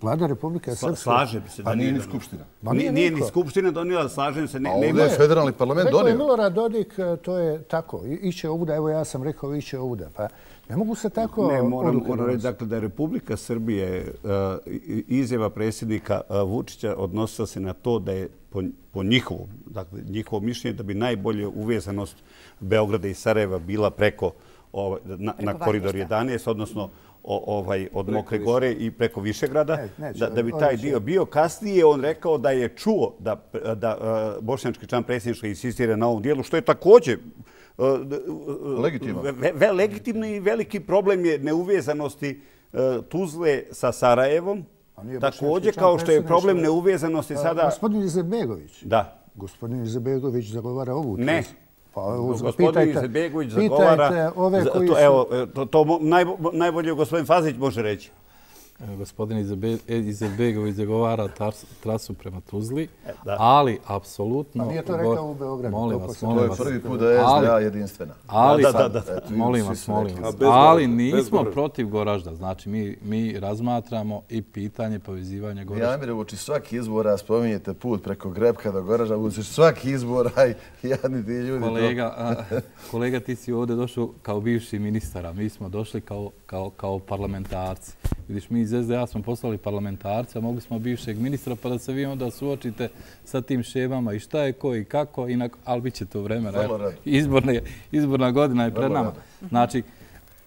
Vlada Republike Srpske... Slažem se. Pa nije ni Skupština. Nije ni Skupština donijela, slažem se. A ovdje je federalni parlament donio. Rekao je Milorad Dodik, to je tako. Iće ovuda, evo ja sam rekao iće ovuda. Pa ne mogu se tako... Ne, moram reći dakle, da je Republika Srbije izjava predsjednika Vučića odnosila se na to da je po njihovo mišljenje da bi najbolje uvezanost Beograda i Sarajeva bila preko na koridor 11, odnosno od Mokre Gore i preko Višegrada, da bi taj dio bio. Kasnije on rekao da je čuo da bošnjački član predsjedništva insistira na ovom dijelu, što je također legitimno i veliki problem je neuvezanosti Tuzle sa Sarajevom. Također kao što je problem neuvezanosti sada... Gospodin Izetbegović. Da. Gospodin Izetbegović zagovara ovu tezu. Ne. Gospodin Izetbegović zagovara... Evo, to najbolje gospodin Fazlić može reći. Gospodin Izetbegović zagovara trasu prema Tuzli, ali apsolutno... A nije to rekao u Beogradu. Molim vas. To je prvi put da je SDA jedinstvena. Molim vas. Ali nismo protiv Goražda. Znači, mi razmatramo i pitanje povezivanja Goražda. Amire, uoči svaki izbora spominjete put preko Grebka do Goražda. Uoči svaki izbora i jadni ti ljudi. Kolega, ti si ovdje došao kao bivši ministar, a mi smo došli kao parlamentarci. Vidiš, mi iz SDA smo poslali parlamentarca, mogli smo bivšeg ministra, pa da se vi onda suočite sa tim šemama i šta je ko i kako, ali bit će to vremena. Izborna godina je pred nama. Znači,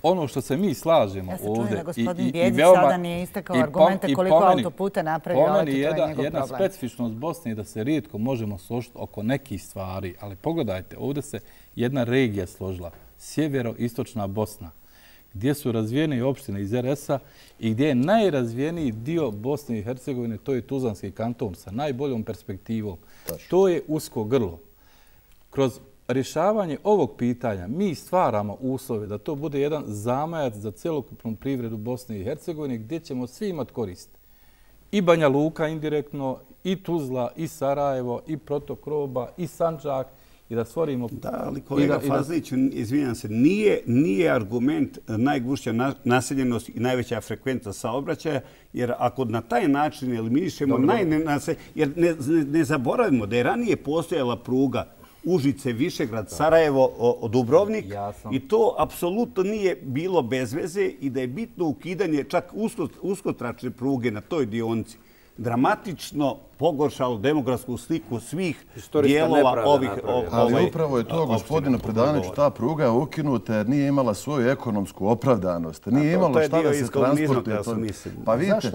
ono što se mi slažemo ovdje... Ja se čujem da gospodin Bjedić sada nije istakao argumente koliko autoputa napravio, ali to je njegov problem. Jedna specifičnost Bosne je da se rijetko možemo složiti oko nekih stvari, ali pogledajte, ovdje se jedna regija složila, sjevero-istočna Bosna, gdje su razvijene opštine iz RS-a i gdje je najrazvijeniji dio Bosne i Hercegovine, to je Tuzlanski kanton sa najboljom perspektivom. To je usko grlo. Kroz rješavanje ovog pitanja mi stvaramo uslove da to bude jedan zamajac za celokupnu privredu Bosne i Hercegovine gdje ćemo svi imati korist. I Banja Luka indirektno, i Tuzla, i Sarajevo, i Protok Roba, i Sandžak, i da stvorimo... Da, ali kolega Fazlić, izvinjam se, nije argument najgušća naseljenost i najveća frekvenca saobraćaja, jer ako na taj način eliminišemo jer ne zaboravimo da je ranije postojala pruga Užice, Višegrad, Sarajevo, Dubrovnik i to apsolutno nije bilo bez veze i da je bitno ukidanje čak uskotračne pruge na toj dionici dramatično pogoršalo demografsku sliku svih dijelova ovih... Ali upravo je to, gospodine Predanoviću, ta pruga je ukinuta jer nije imala svoju ekonomsku opravdanost. Nije imalo šta da se transportuje. Pa vidite,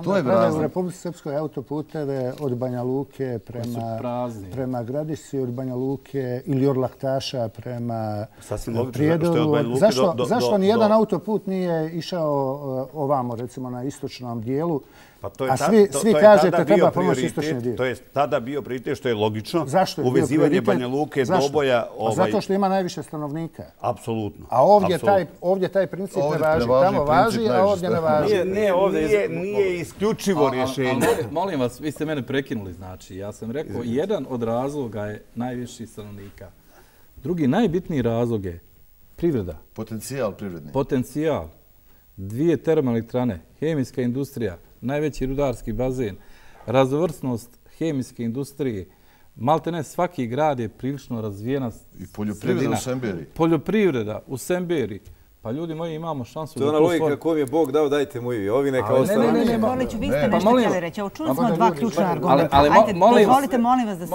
to je razlog. U Republici Srpskoj autoputeve od Banja Luke prema Gradišci, od Banja Luke ili od Laktaša prema Prijedoru. Zašto nijedan autoput nije išao ovamo, recimo na istočnom dijelu? A svi kažete treba pomoći istočni dio. To je tada bio prioritet, što je logično. Uvezivanje Banja Luke, Doboja... Zato što ima najviše stanovnika. Apsolutno. A ovdje taj princip ne važi. Tamo važi, a ovdje ne važi. Nije isključivo rješenje. Molim vas, vi ste mene prekinuli. Znači, ja sam rekao, jedan od razloga je najviši stanovnika. Drugi, najbitniji razlog je privreda. Potencijal privredni. Potencijal. 2 termoelektrane, hemijska industrija, najveći rudarski bazen, raznovrsnost hemijske industrije. Maltene svaki grad je prilično razvijena sredina. I poljoprivreda u Semberi. Poljoprivreda u Semberi. Pa ljudi moji, imamo šansu... To je ona logika koju mi je Bog dao, dajte mu i vi. Ovi neka ostane. Ne, Boliću, vi ste nešto htjeli reći. Evo, čuli smo 2 ključna argumenta. Ajde, dozvolite, molim vas da se...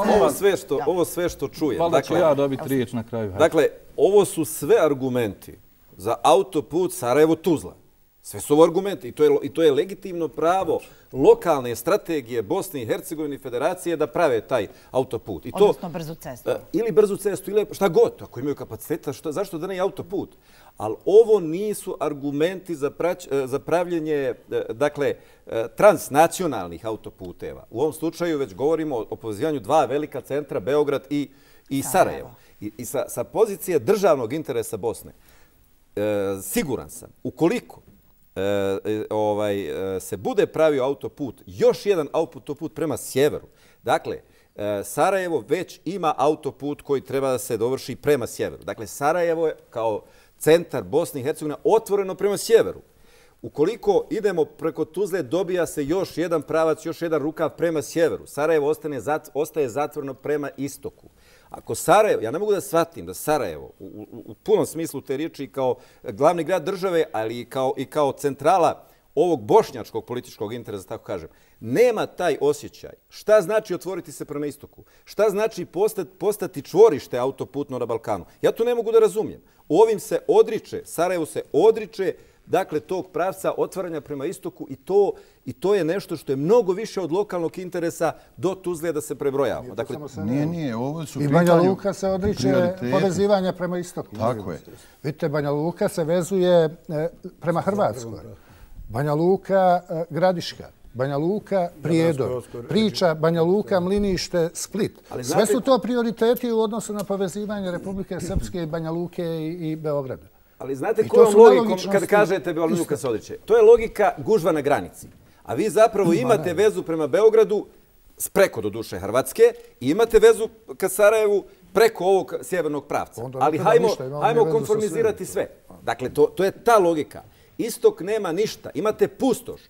Ovo sve što čujem. Valjda ću ja dobiti riječ na kraju. Dakle, ovo su sve argumenti za autoput Sarajevo-Tuzla. Sve su ovo argumenti i to je legitimno pravo lokalne strategije Bosne i Hercegovine i Federacije da prave taj autoput. Odnosno brzu cestu. Ili brzu cestu, ili šta god. Ako imaju kapaciteta, zašto da ne i autoput? Ali ovo nisu argumenti za pravljenje, dakle, transnacionalnih autoputeva. U ovom slučaju već govorimo o povezivanju dva velika centra, Beograd i Sarajevo. I sa pozicije državnog interesa Bosne, siguran sam, ukoliko se bude pravio autoput, još jedan autoput prema sjeveru. Dakle, Sarajevo već ima autoput koji treba da se dovrši prema sjeveru. Dakle, Sarajevo je kao centar Bosne i Hercegovine otvoreno prema sjeveru. Ukoliko idemo preko Tuzle, dobija se još jedan pravac, još jedan rukav prema sjeveru. Sarajevo ostaje zatvoreno prema istoku. Ako Sarajevo, ja ne mogu da shvatim da Sarajevo u punom smislu te riječi kao glavni grad države, ali i kao centrala ovog bošnjačkog političkog interesa, tako kažem, nema taj osjećaj. Šta znači otvoriti se prema istoku? Šta znači postati čvorište autoputno na Balkanu? Ja to ne mogu da razumijem. Ovim se odriče, Sarajevo se odriče, dakle, tog pravca otvaranja prema istoku i to je nešto što je mnogo više od lokalnog interesa do Tuzle da se prebrojavamo. Dakle, nije, ovo su i Banja Luka se odriče povezivanja prema istoku. Tako je. Vidite, Banja Luka se vezuje prema Hrvatskoj. Banja Luka Gradiška. Banja Luka Prijedor. Priča Banja Luka Mlinište Split. Sve su to prioriteti u odnosu na povezivanje Republike Srpske i Banja Luke i Beograda. Ali znate kojom logikom kad kažete Banja Luka se odriče? To je logika gužva na granici. A vi zapravo imate vezu prema Beogradu preko do duše Hrvatske i imate vezu ka Sarajevu preko ovog sjevernog pravca. Ali hajmo konformizirati sve. Dakle, to je ta logika. Istok nema ništa. Imate pustoš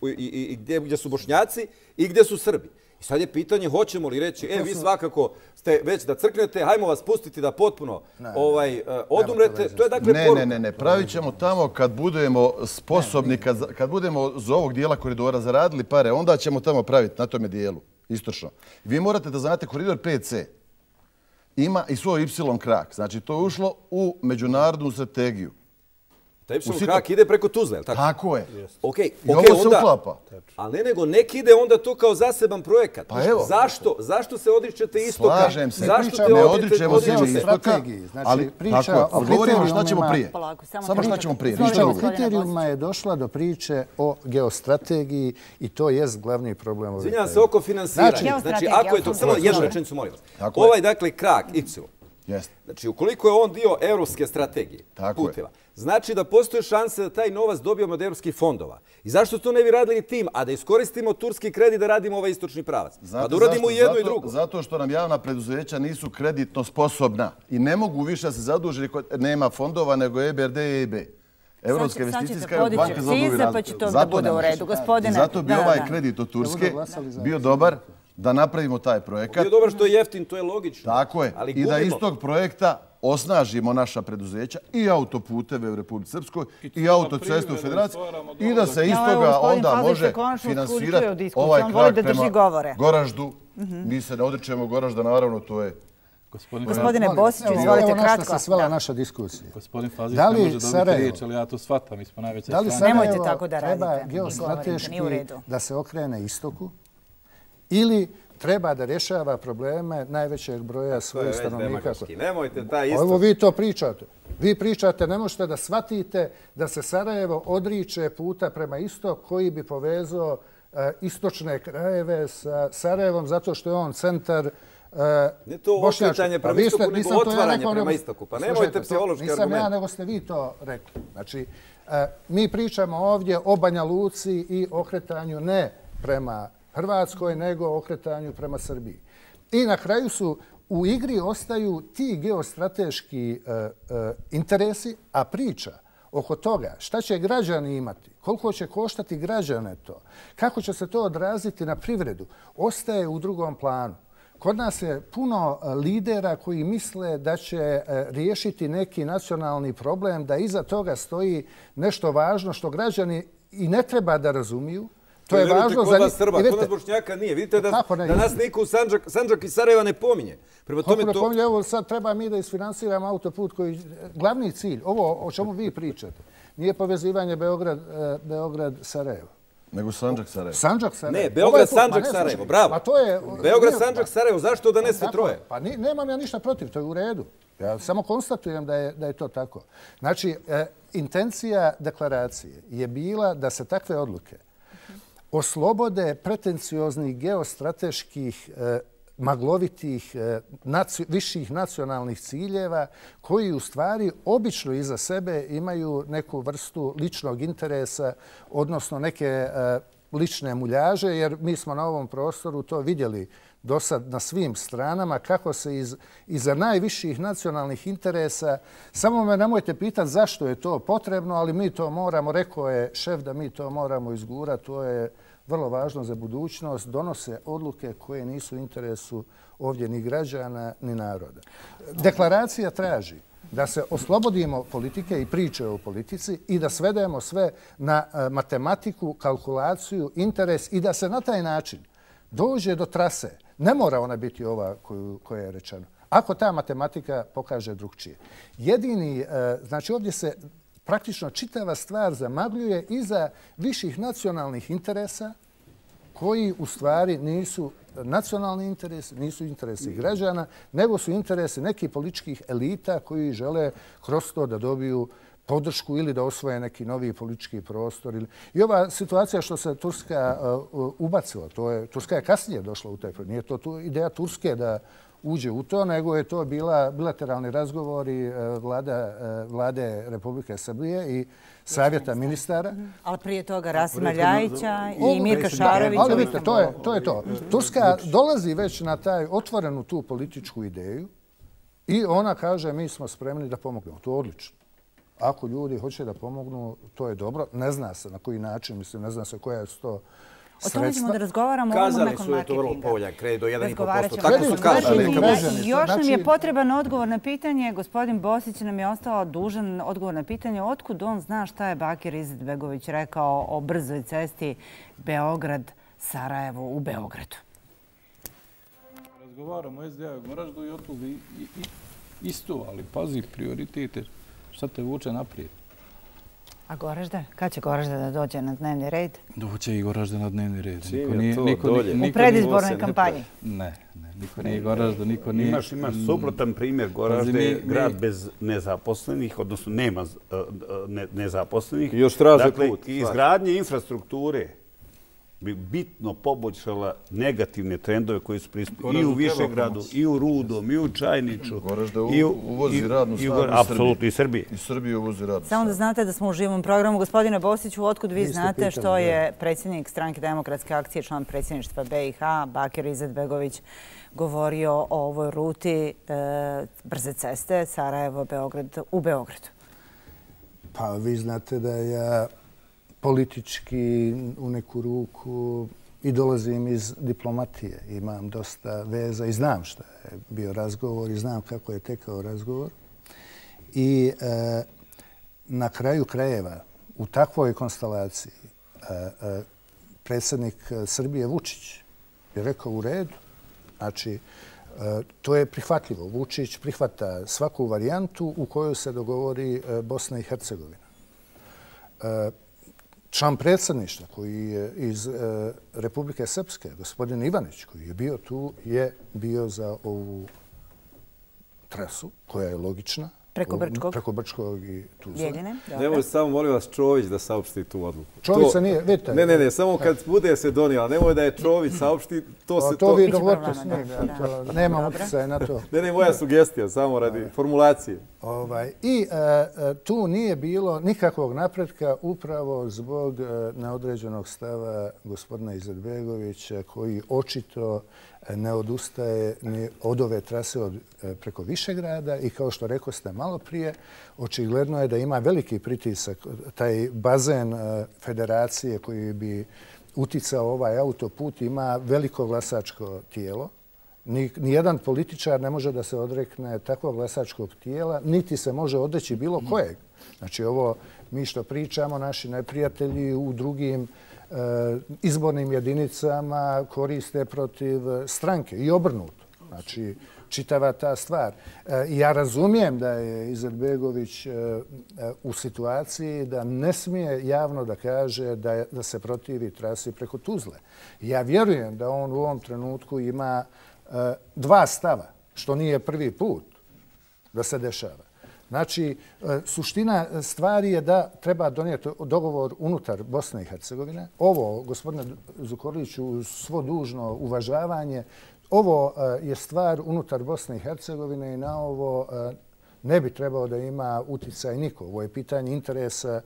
i gdje su Bošnjaci i gdje su Srbi. I sad je pitanje hoćemo li reći, vi svakako ste već da crknete, hajmo vas pustiti da potpuno odumrete. To je dakle poruka. Ne. Pravit ćemo tamo kad budemo sposobni, kad budemo za ovog dijela koridora zaradili pare, onda ćemo tamo praviti na tome dijelu, istočno. Vi morate da znate koridor 5C ima i svoj Y krak. Znači to je ušlo u međunarodnu strategiju. Taj Y krak ide preko Tuzle, je li tako? Tako je. I ovo se uklapa. Ali nek ide onda to kao zaseban projekat. Pa evo. Zašto se odričete istoka? Slažem se. Ne odričemo se istoka, ali tako je. Govorimo šta ćemo prije. Samo šta ćemo prije. Priča o kriterijuma je došla do priče o geostrategiji i to je glavni problem. Izvinjam se oko finansiranja. Znači, ako je to, samo jednu rečenicu molim vas. Ovaj, dakle, krak, Y. Znači, ukoliko je on dio evropske strategije, puteva, znači da postoje šanse da taj novac dobijemo od evropskih fondova. I zašto to ne bi radili tim, a da iskoristimo turski kredit da radimo ovaj istočni pravac? Pa da uradimo i jedno i drugo. Zato što nam javna preduzeća nisu kreditno sposobna i ne mogu više da se zaduži, nema fondova nego EBRD i EIB. Evropska investicijska banka za obnovu i razvoj. Zato bi ovaj kredit od Turske bio dobar da napravimo taj projekat. Bio dobar što je jeftin, to je logično. Tako je. I da iz tog projekta osnažimo naša preduzeća i autoputeve u Republici Srpskoj i autocestu u Federaciji i da se iz toga onda može finansirati ovaj krak prema Goraždu. Mi se ne odričemo Goražda, naravno, to je... Gospodine Bosiću, izvolite kratko. Evo na što se svela naša diskusija. Gospodin Fazlić ne može dobiti riječ, ali ja to shvatam, mi smo najveća strana. Da li Sarajevo treba geostrateški da se okrene istoku ili treba da rješava probleme najvećeg broja svojih stanovnika? Nemojte taj istok. Evo vi to pričate. Vi pričate, ne možete da shvatite da se Sarajevo odriče puta prema istok koji bi povezao istočne krajeve sa Sarajevom zato što je on centar ne to okretanje prema istoku, nego otvaranje prema istoku. Pa nemojte psihološki argument. Nisam ja, nego ste vi to rekli. Znači, mi pričamo ovdje o Banja Luci i okretanju ne prema Hrvatskoj, nego okretanju prema Srbiji. I na kraju u igri ostaju ti geostrateški interesi, a priča oko toga šta će građani imati, koliko će koštati građane to, kako će se to odraziti na privredu, ostaje u drugom planu. Kod nas je puno lidera koji misle da će riješiti neki nacionalni problem, da iza toga stoji nešto važno što građani i ne treba da razumiju. To je važno za njih. Kod nas Bošnjaka nije. Vidite da nas niko u Sandžak i Sarajeva ne pominje. Kako ne pominje? Evo sad treba mi da isfinansiramo autoput koji... Glavni cilj, ovo o čemu vi pričate, nije povezivanje Beograd-Sarajevo. Nego Sandžak-Sarajevo. Sandžak-Sarajevo. Ne, Beograd-Sandžak-Sarajevo, bravo. Beograd-Sandžak-Sarajevo, zašto da ne se troje? Pa nemam ja ništa protiv, to je u redu. Ja samo konstatujem da je to tako. Znači, intencija deklaracije je bila da se takve odluke oslobode pretencioznih geostrateških maglovitih viših nacionalnih ciljeva koji u stvari obično iza sebe imaju neku vrstu ličnog interesa, odnosno neke lične muljaže, jer mi smo na ovom prostoru to vidjeli do sad na svim stranama, kako se iza najviših nacionalnih interesa, samo me nemojte pitati zašto je to potrebno, ali mi to moramo, rekao je šef da mi to moramo izgurati, to je vrlo važno za budućnost, donose odluke koje nisu u interesu ovdje ni građana, ni naroda. Deklaracija traži da se oslobodimo politike i priče o politici i da svedemo sve na matematiku, kalkulaciju, interes i da se na taj način dođe do trase. Ne mora ona biti ova koja je rečena. Ako ta matematika pokaže drugčije. Znači ovdje se praktično čitava stvar zamagljuje iza viših nacionalnih interesa koji u stvari nisu nacionalni interesi, nisu interesi građana, nego su interesi nekih političkih elita koji žele kroz to da dobiju podršku ili da osvoje neki novi politički prostor. I ova situacija što se Turska ubacila, Turska je kasnije došla u taj projekt. Nije to ideja Turske da uđe u to, nego je to bila bilateralni razgovori vlade Republike Srbije i savjeta ministara. Ali prije toga Rasima Ljajića i Mirka Šarovića. Ali vidite, to je to. Turska dolazi već na taj otvorenu tu političku ideju i ona kaže mi smo spremni da pomognemo. To je odlično. Ako ljudi hoće da pomognu, to je dobro. Ne zna se na koji način, mislim, ne zna se koja su to sredstva. O tome ćemo da razgovaramo nakon marketinga. Kazali su je to vrlo povoljan kredit do 1,5%. Tako su kazali. Još nam je potreban odgovor na pitanje. Gospodin Bosić nam je ostao dužan odgovor na pitanje otkud on zna šta je Bakir Izetbegović rekao o brzoj cesti Beograd-Sarajevo u Beogradu. Razgovaramo o SDA u Goraždu i otkud isto, ali pazi, prioritete. Šta te vuče naprijed? A Goražda? Kad će Goražda da dođe na dnevni red? Doće i Goražda na dnevni red. U predizbornoj kampanji? Ne, niko nije Goražda, niko nije... Imaš suprotan primjer. Goražda je grad bez nezaposlenih, odnosno nema nezaposlenih. I još traže put. Dakle, izgradnje infrastrukture bi bitno poboljšala negativne trendove koji su prisutni i u Višegradu, i u Rudom, i u Čajniču. Goražda uvozi radnu snagu apsolutno i Srbije. I Srbije uvozi radnu snagu. Samo da znate da smo u živom programu. Gospodine Bosiću, otkud vi znate što je predsjednik Stranke demokratske akcije, član predsjedništva BiH, Bakir Izetbegović, govorio o ovoj ruti brze ceste Sarajevo-Beograd u Beogradu? Pa vi znate da ja politički u neku ruku i dolazim iz diplomatije. Imam dosta veza i znam šta je bio razgovor i znam kako je tekao razgovor. I na kraju krajeva u takvoj konstelaciji predsjednik Srbije Vučić je rekao u redu. Znači, to je prihvatljivo. Vučić prihvata svaku varijantu u kojoj se dogovori Bosna i Hercegovina. Član predsjedništva koji je iz Republike Srpske, gospodin Ivanić, koji je bio tu, je bio za ovu trasu koja je logična. Preko Brčkog i Tuzle. Nemoj samo, molim vas, Čović da saopšti tu odluku. Čović nije, vidite. Ne, samo kad bude se donijela, nemoj da je Čović saopšti, to se to... To vi dogovorite s njim, nemam utjecaja na to. Ne, moja sugestija, samo radi formulacije. I tu nije bilo nikakvog napretka upravo zbog neodređenog stava gospodina Izetbegovića koji očito ne odustaje ni od ove trase preko Višegrada i kao što rekao ste malo prije, očigledno je da ima veliki pritisak. Taj bazen federacije koji bi uticao ovaj autoput ima veliko glasačko tijelo. Nijedan političar ne može da se odrekne takvog glasačkog tijela, niti se može odreći bilo kojeg. Znači ovo mi što pričamo, naši neprijatelji u drugim izbornim jedinicama koriste protiv stranke i obrnuto. Znači čitava ta stvar. Ja razumijem da je Izetbegović u situaciji da ne smije javno da kaže da se protivi trasi preko Tuzle. Ja vjerujem da on u ovom trenutku ima dva stava, što nije prvi put da se dešava. Znači, suština stvari je da treba donijeti dogovor unutar Bosne i Hercegovine. Ovo, gospodine Zukorliću, uz svo dužno uvažavanje, ovo je stvar unutar Bosne i Hercegovine i na ovo ne bi trebao da ima uticaj niko. Ovo je pitanje interesa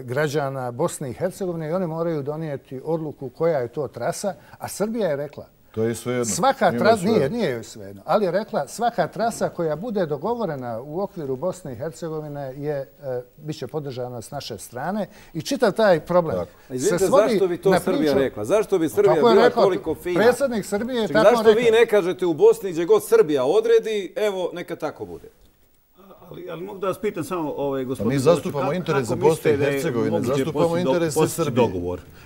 građana Bosne i Hercegovine i oni moraju donijeti odluku koja je to trasa, a Srbija je rekla to je svejedno. Svaka trasa, nije joj svejedno, ali je rekla svaka trasa koja bude dogovorena u okviru Bosne i Hercegovine bit će podržana s naše strane i čitav taj problem. Izvinite, zašto bi to Srbija rekla? Zašto bi Srbija bila toliko fina? Predsjednik Srbije je tako rekao. Zašto vi ne kažete u Bosni gdje god Srbija odredi, evo, neka tako bude? Ali mogu da vas pitam samo, gospodine... Mi zastupamo interes za Bosne i Hercegovine, zastupamo interes za Srbije.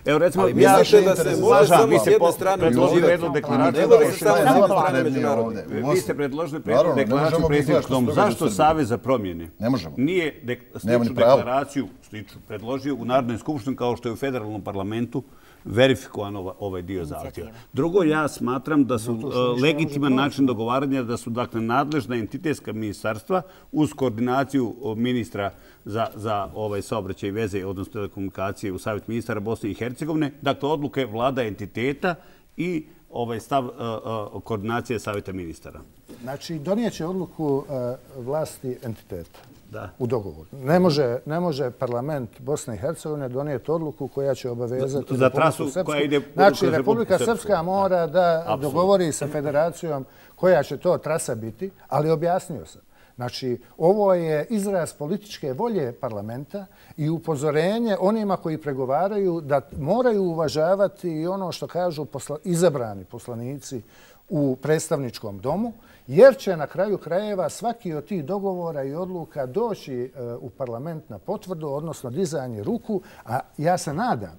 Evo, recimo, vi mislite da se može samo s jedne strane predložili deklaraciju. Vi ste predložili deklaraciju predsjedničkog doma. Zašto Savez za promjene nije sličnu deklaraciju predložio u Narodnoj skupštini kao što je u federalnom parlamentu verifikovan ovaj dio zahtjeva. Drugo, ja smatram da su legitiman način dogovaranja da su dakle nadležna entitetska ministarstva uz koordinaciju ministra za saobraćaj i veze, odnosno telekomunikacije u Savjet ministara Bosne i Hercegovine, dakle odluke vlada entiteta i stav koordinacije Savjeta ministara. Znači, donijeće odluku vlasti entiteta. U dogovoru. Ne može parlament Bosne i Hercegovine donijeti odluku koja će obavezati za trasu koja ide... Znači, Republika Srpska mora da dogovori sa federacijom koja će to trasa biti, ali objasnio sam. Znači, ovo je izraz političke volje parlamenta i upozorenje onima koji pregovaraju da moraju uvažavati i ono što kažu izabrani poslanici u predstavničkom domu, jer će na kraju krajeva svaki od tih dogovora i odluka doći u parlament na potvrdu, odnosno dizanje ruku, a ja se nadam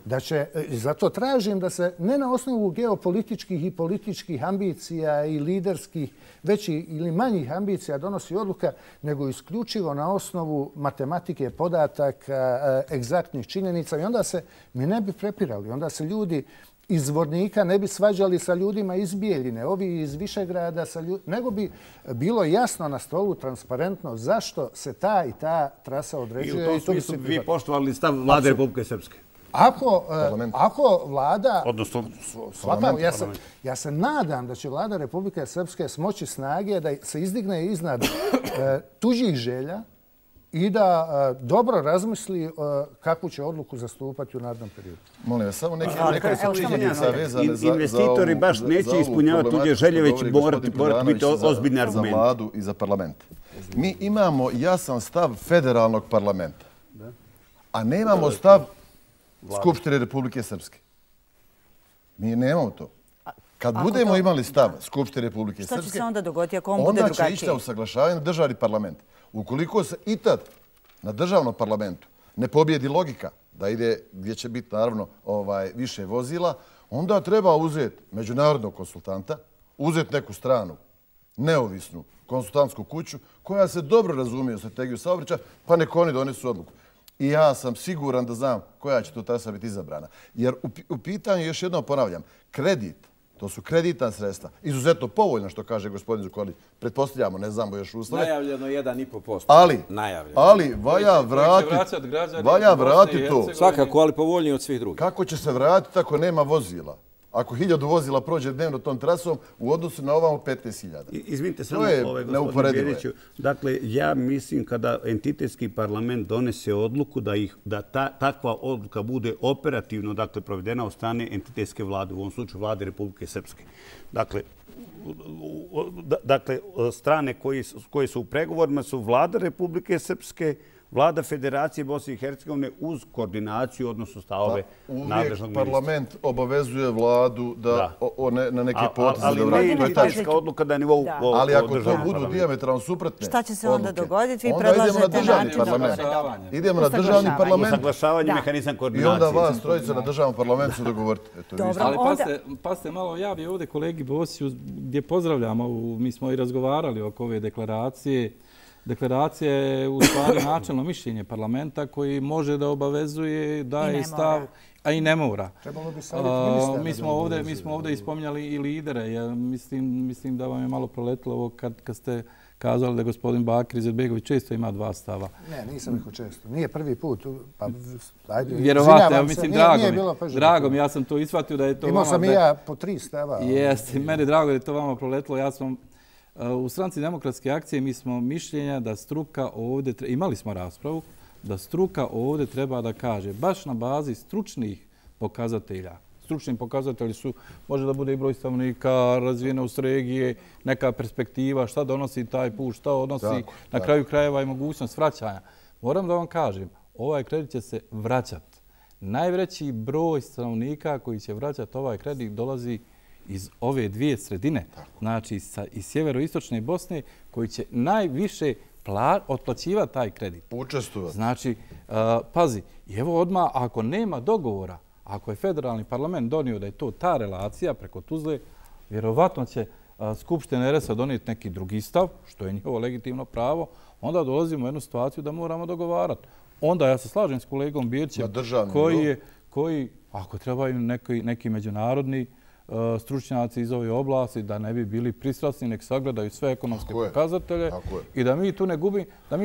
da će, zato tražim da se ne na osnovu geopolitičkih i političkih ambicija i liderskih većih ili manjih ambicija donosi odluka, nego isključivo na osnovu matematike, podataka, egzaktnih činjenica i onda se mi ne bi prepirali, onda se ljudi iz Zvornika ne bi svađali sa ljudima iz Bijeljine, ovi iz Višegrada, nego bi bilo jasno na stolu, transparentno, zašto se ta i ta trasa određuje. I u tom smislu vi poštovali stav Vlade Republike Srpske? Ako vlada... Odnosno... Ja se nadam da će Vlada Republike Srpske smoći snage da se izdigne iznad tuđih želja i da dobro razmisli kakvu će odluku zastupati u narednom periodu. Molim vas, samo neke činjenica vezane za investitori baš neće ispunjavati tuđe želje, već morati biti ozbiljni argumenti. Za vladu i za parlament. Mi imamo jasan stav federalnog parlamenta, a nemamo stav Skupštine Republike Srpske. Mi nemamo to. Kad budemo imali stav Skupštine Republike Srpske, što će se onda dogoditi ako on bude drugačiji? Onda će ići usaglašavanje na državni parlament. Ukoliko se i tad na državnom parlamentu ne pobjedi logika da ide gdje će biti naravno više vozila, onda treba uzeti međunarodnog konsultanta, uzeti neku stranu, neovisnu konsultantsku kuću koja se dobro razumije u strategiju saobraćaja, pa nek oni donesu odluku. I ja sam siguran da znam koja će to trasa biti izabrana. Jer u pitanju, još jednom ponavljam, kredit, to su kreditna sredstva, izuzetno povoljno, što kaže gospodin Zukorlić. Pretpostavljamo, ne znamo još uslove. Najavljeno 1,5%. Ali valja vratiti to. Svakako, ali povoljnije od svih drugih. Kako će se vratiti ako nema vozila? Ako 1000 vozila prođe dnevno tom trasom u odnosu na ovamo 15.000. Izvinite samo, gospodine Bjeriću. Dakle, ja mislim kada entitetski parlament donese odluku da takva odluka bude operativno provedena od strane entitetske vlade, u ovom slučaju vlade Republike Srpske. Dakle, strane koje su u pregovorima su vlada Republike Srpske, Vlada Federacije Bosne i Hercegovine uz koordinaciju, odnosno stavove nadležnog ministra. Uvijek parlament obavezuje vladu da na neke poteze da vrati. Ali ne odluka da je nivou državnog ali ako to budu dijametralno suprotne šta će se onda dogoditi? Vi onda idemo na državni način parlament. Idemo na državni parlament. Usaglašavanje, mehanizam koordinacije. I onda vas trojica na državnom parlamentu su dogovoriti. Ali pasite malo, ja bih ovdje kolegi Bosiću, gdje pozdravljamo, mi smo i razgovarali oko ove deklaracije. Deklaracija je u stvari načelno mišljenje parlamenta koji može da obavezuje, daje stav, a i ne mora. Mi smo ovdje ispominjali i lidere. Ja mislim da vam je malo proletilo ovo kad ste kazali da gospodin Bakir Izetbegović često ima dva stava. Ne, nisam rekao često. Nije prvi put. Vjerovatno, mislim, drago mi, ja sam to ishvatio da je to... Imao sam i ja po 3 stava. Jeste, meni je drago da je to vama proletilo. Ja sam u Stranci demokratske akcije mi smo mišljenja da struka ovdje, imali smo raspravu, da struka ovdje treba da kaže, baš na bazi stručnih pokazatelja. Stručni pokazatelji su, može da bude i broj stanovnika, razvijenost regije, neka perspektiva, šta donosi taj put, šta odnosi na kraju krajeva i mogućnost vraćanja. Moram da vam kažem, ovaj kredit će se vraćati. Najveći broj stanovnika koji će vraćati ovaj kredit dolazi iz ove dvije sredine, znači iz sjeveroistočne Bosne, koji će najviše otplaćivati taj kredit. Učestvovati. Znači, pazi, evo odmah, ako nema dogovora, ako je federalni parlament donio da je to ta relacija preko Tuzle, vjerovatno će Skupština RS-a donijeti neki drugi stav, što je njihovo legitimno pravo, onda dolazimo u jednu situaciju da moramo dogovarati. Onda ja se slažem s kolegom Birćem, koji, ako trebaju neki međunarodni stručnjaci iz ove oblasti, da ne bi bili pristrasni, nek sagledaju sve ekonomske pokazatelje i da mi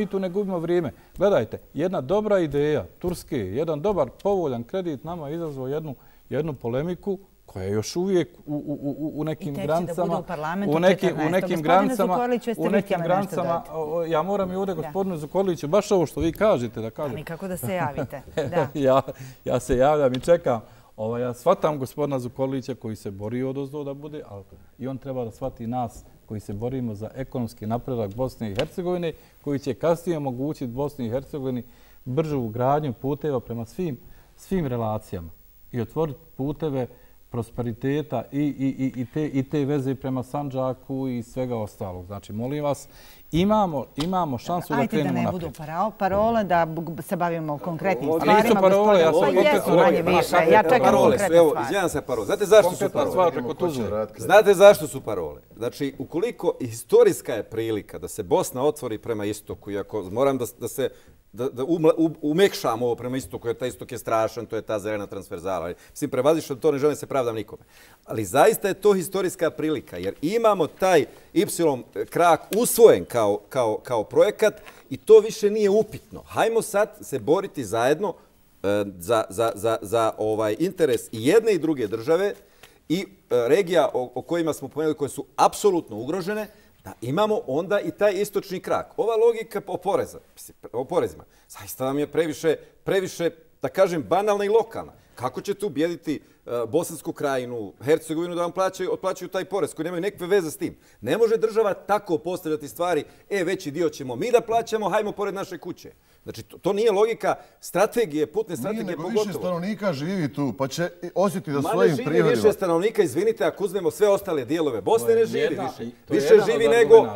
tu ne gubimo vrijeme. Gledajte, jedna dobra ideja Turske, jedan dobar povoljan kredit nama je izazvao jednu polemiku koja je još uvijek u nekim granicama, ja moram i ovdje gospodinu Zukorliću, baš ovo što vi kažete da kažem. Nikako da se javite. Ja se javljam i čekam. Ja shvatam gospodina Zukorlića koji se bori odozdo da bude, ali i on treba da shvati nas koji se borimo za ekonomski napredak Bosne i Hercegovine, koji će kasnije omogućiti Bosni i Hercegovini bržu gradnju puteva prema svim relacijama i otvoriti puteve prosperiteta i te veze prema Sandžaku i svega ostalog. Znači, molim vas, imamo šansu da krenemo naprijed. Ajde da ne budu parole, da se bavimo konkretnim stvarima. Nisu parole, ja sam konkretno rekao. Ja čekam konkretne stvari. Izvijam se parole. Znate zašto su parole? Znate zašto su parole? Znači, ukoliko historijska je prilika da se Bosna otvori prema istoku, iako moram da se da umekšam ovo prema istoku, jer taj istok je strašan, to je ta zelena transverzala. Mislim, prevazišao to, ne želim se pravdam nikome. Ali zaista je to historijska prilika, jer imamo taj Y krak usvojen kao projekat i to više nije upitno. Hajmo sad se boriti zajedno za interes i jedne i druge države i regija o kojima smo pomenuli, koje su apsolutno ugrožene, da imamo onda i taj istočni krak. Ova logika o porezima, zaista vam je previše, da kažem, banalna i lokalna. Kako ćete ubijediti Bosansku krajinu, Hercegovinu da vam otplaćaju taj porez koji nemaju nekakve veze s tim? Ne može država tako postavljati stvari, veći dio ćemo mi da plaćamo, hajmo pored naše kuće. Znači, to nije logika strategije, putne strategije pogotovo. Nije, nego više stanovnika živi tu, pa će osjetiti da svojim prihodima. Ma ne živi više stanovnika, izvinite, ako uzmemo sve ostale dijelove Bosne, ne živi više. Više živi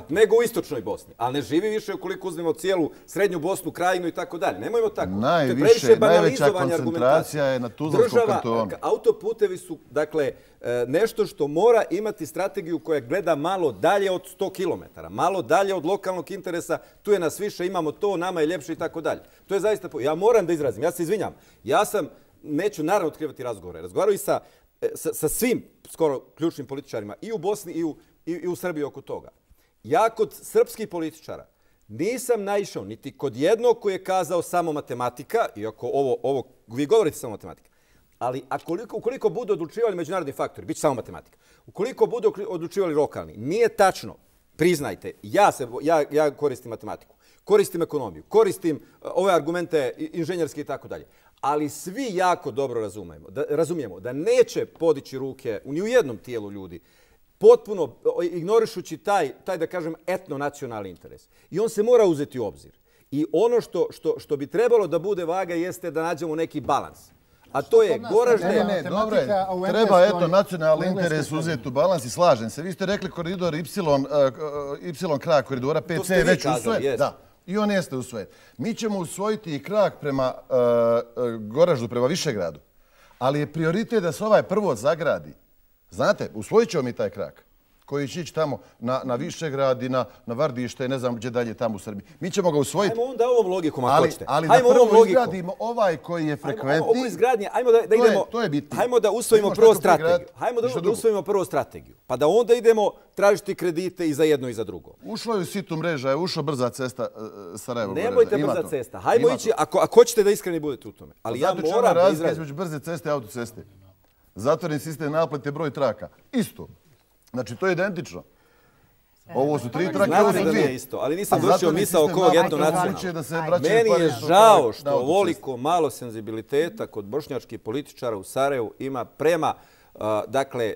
nego u istočnoj Bosni. Ali ne živi više ukoliko uzmemo cijelu srednju Bosnu, krajinu i tako dalje. Nemojmo tako. Najveća koncentracija je na Tuzlanskom kantonu. Autoputevi su, dakle, nešto što mora imati strategiju koja gleda malo dalje od 100 km, malo dalje od lokalnog interesa, tu je nas više, imamo to, nama je ljepše i tako dalje. To je zaista, ja moram da izrazim, ja se izvinjam, neću naravno otkrivati razgovore, razgovarao i sa svim skoro ključnim političarima i u Bosni i u Srbiji oko toga. Ja kod srpskih političara nisam naišao niti kod jednog koji je kazao samo matematika, iako ovo vi govorite samo matematika, ali ukoliko budu odlučivali međunarodni faktori, bit će samo matematika, ukoliko budu odlučivali lokalni, nije tačno, priznajte, ja koristim matematiku, koristim ekonomiju, koristim ove argumente inženjerske i tako dalje, ali svi jako dobro razumijemo da neće podići ruke ni u jednom tijelu ljudi, potpuno ignorišući taj, da kažem, etno-nacionalni interes. I on se mora uzeti u obzir. I ono što bi trebalo da bude vaga jeste da nađemo neki balans. A to je Goražde... Ne, dobro je. Treba, eto, nacionalni interes uzeti u balans i slažem se. Vi ste rekli koridor Y krak koridora, PC je već usvojen. Da. I on jeste usvojen. Mi ćemo usvojiti i krak prema Goraždu, prema Višegradu. Ali je prioritet da se ovaj prvo zagradi. Znate, usvojit ćemo mi taj krak koji će ići tamo na Višegrad i na Vardište i ne znam gdje dalje tamo u Srbiji. Mi ćemo ga usvojiti. Ajmo onda ovom logikom, ako hoćete. Ali da prvo izgradimo ovaj koji je frekventni. Ovo izgradnje, ajmo da idemo... To je bitno. Ajmo da usvojimo prvo strategiju. Ajmo da usvojimo prvo strategiju. Pa da onda idemo tražiti kredite i za jedno i za drugo. Ušlo je u situ mreža, je ušlo brza cesta Sarajevo-Goražda. Nemojte brza cesta. Hajmo ići, ako hoćete da iskreni budete u tome. Ali ja moram da izrazim. Između brze ceste i autoceste. Zatvoren sistem naplate, broj traka. Isto. Znači, to je identično. Ovo su 3 trake, ovo su 2. Isto, ali nisam vršio misao oko ovog etnonacionalnog. Meni je žao što ovoliko malo senzibiliteta kod bošnjačkih političara u Sarajevu ima prema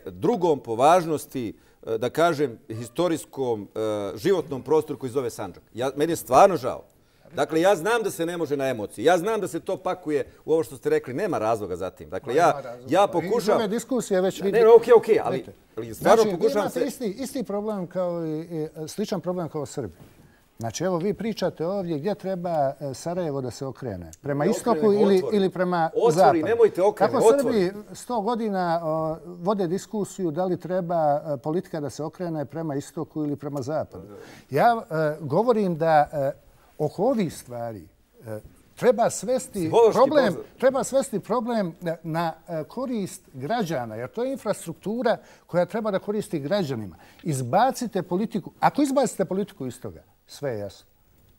drugom po važnosti, da kažem, historijskom životnom prostoru koji zove Sandžak. Meni je stvarno žao. Dakle, ja znam da se ne može na emociji. Ja znam da se to pakuje u ovo što ste rekli. Nema razloga za tim. Dakle, ja pokušam... Ove diskusije već vidite. Ne, okej, ali stvarno pokušam se... Znači, isti problem kao i sličan problem kao Srbi. Znači, evo, vi pričate ovdje gdje treba Sarajevo da se okrene. Prema istoku ili prema zapadu. Otvori, nemojte okrene, otvori. Kako Srbi 100 godina vode diskusiju da li treba politika da se okrene prema istoku ili prema zapadu. Ja govorim da oko ovih stvari treba svesti problem na korist građana, jer to je infrastruktura koja treba da koristi građanima. Izbacite politiku. Ako izbacite politiku iz toga, sve je jasno.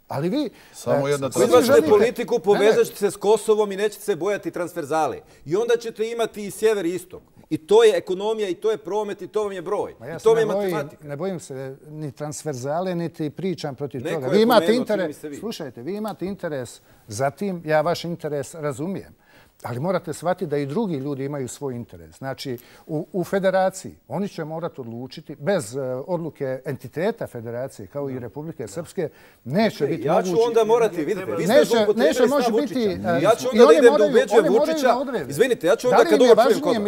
Ali vi... Ako izbacite politiku, povezat ćete se s Kosovom i nećete se bojati transverzale. I onda ćete imati i sjever i istok. I to je ekonomija, i to je promet, i to vam je broj. I to vam je matematika. Ne bojim se ni transverzale, niti pričam protiv toga. Vi imate interes, slušajte, vi imate interes za tim, ja vaš interes razumijem. Ali morate shvatiti da i drugi ljudi imaju svoj interes. Znači, u federaciji oni će morati odlučiti, bez odluke entiteta federacije, kao i Republike Srpske, neće biti mogući... Ja ću onda morati, vidite, vi ste neće moći biti... Ja ću onda da idem da ubeđujem Vučića... Izvinite, ja ću onda kad ovo čujem kod vas.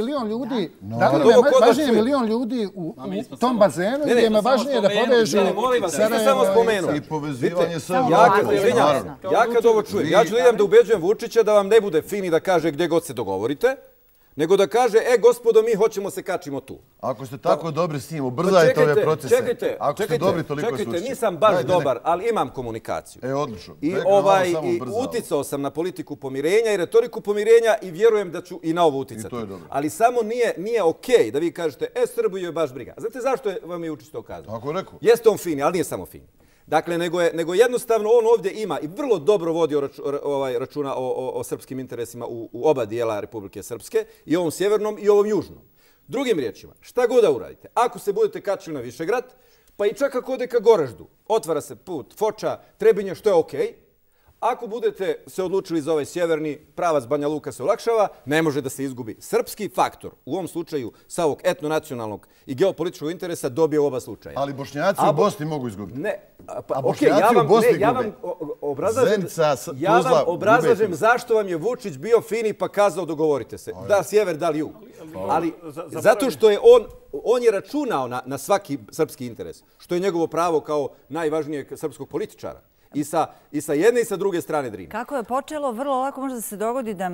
Da li je važnije milion ljudi u tom bazenu ili je važnije da povežu... Molim vas, niste samo spomenu. I povezivanje sa... Ja kad ovo čujem, ja ću da idem da ubeđujem Vučića da vam ne bude fini da kaže gdje god se dogovorite, nego da kaže, gospodo, mi hoćemo se kačimo tu. Ako ste tako dobri s njim, ubrzajte ove procese. Čekajte, nisam baš dobar, ali imam komunikaciju. Odlično. I uticao sam na politiku pomirenja i retoriku pomirenja i vjerujem da ću i na ovo uticati. Ali samo nije okej da vi kažete, Srbiju je baš briga. Znate zašto vam je Vučić to kazao? Tako rekao. Jeste on fini, ali nije samo fini. Dakle, nego jednostavno on ovdje ima i vrlo dobro vodi računa o srpskim interesima u oba dijela Republike Srpske, i ovom sjevernom i ovom južnom. Drugim riječima, šta god da uradite, ako se budete kačili na Višegrad, pa i čak ako ode ka Goraždu, otvara se put Foča, Trebinje, što je okej. Ako budete se odlučili za ovaj sjeverni, pravac Banja Luka se olakšava, ne može da se izgubi. Srpski faktor, u ovom slučaju sa ovog etnonacionalnog i geopolitičkog interesa, dobije u oba slučaja. Ali Bošnjaci u Bosni mogu izgubiti. Ne, a Bošnjaci u Bosni gube. Ja vam obrazlažem zašto vam je Vučić bio fini pa kazao dogovorite se. Da sjever, da li jug. Ali zato što je on je računao na svaki srpski interes, što je njegovo pravo kao najvažnijeg srpskog političara. I sa jedne i sa druge strane Drine. Kako je počelo, vrlo lako može da se dogodi da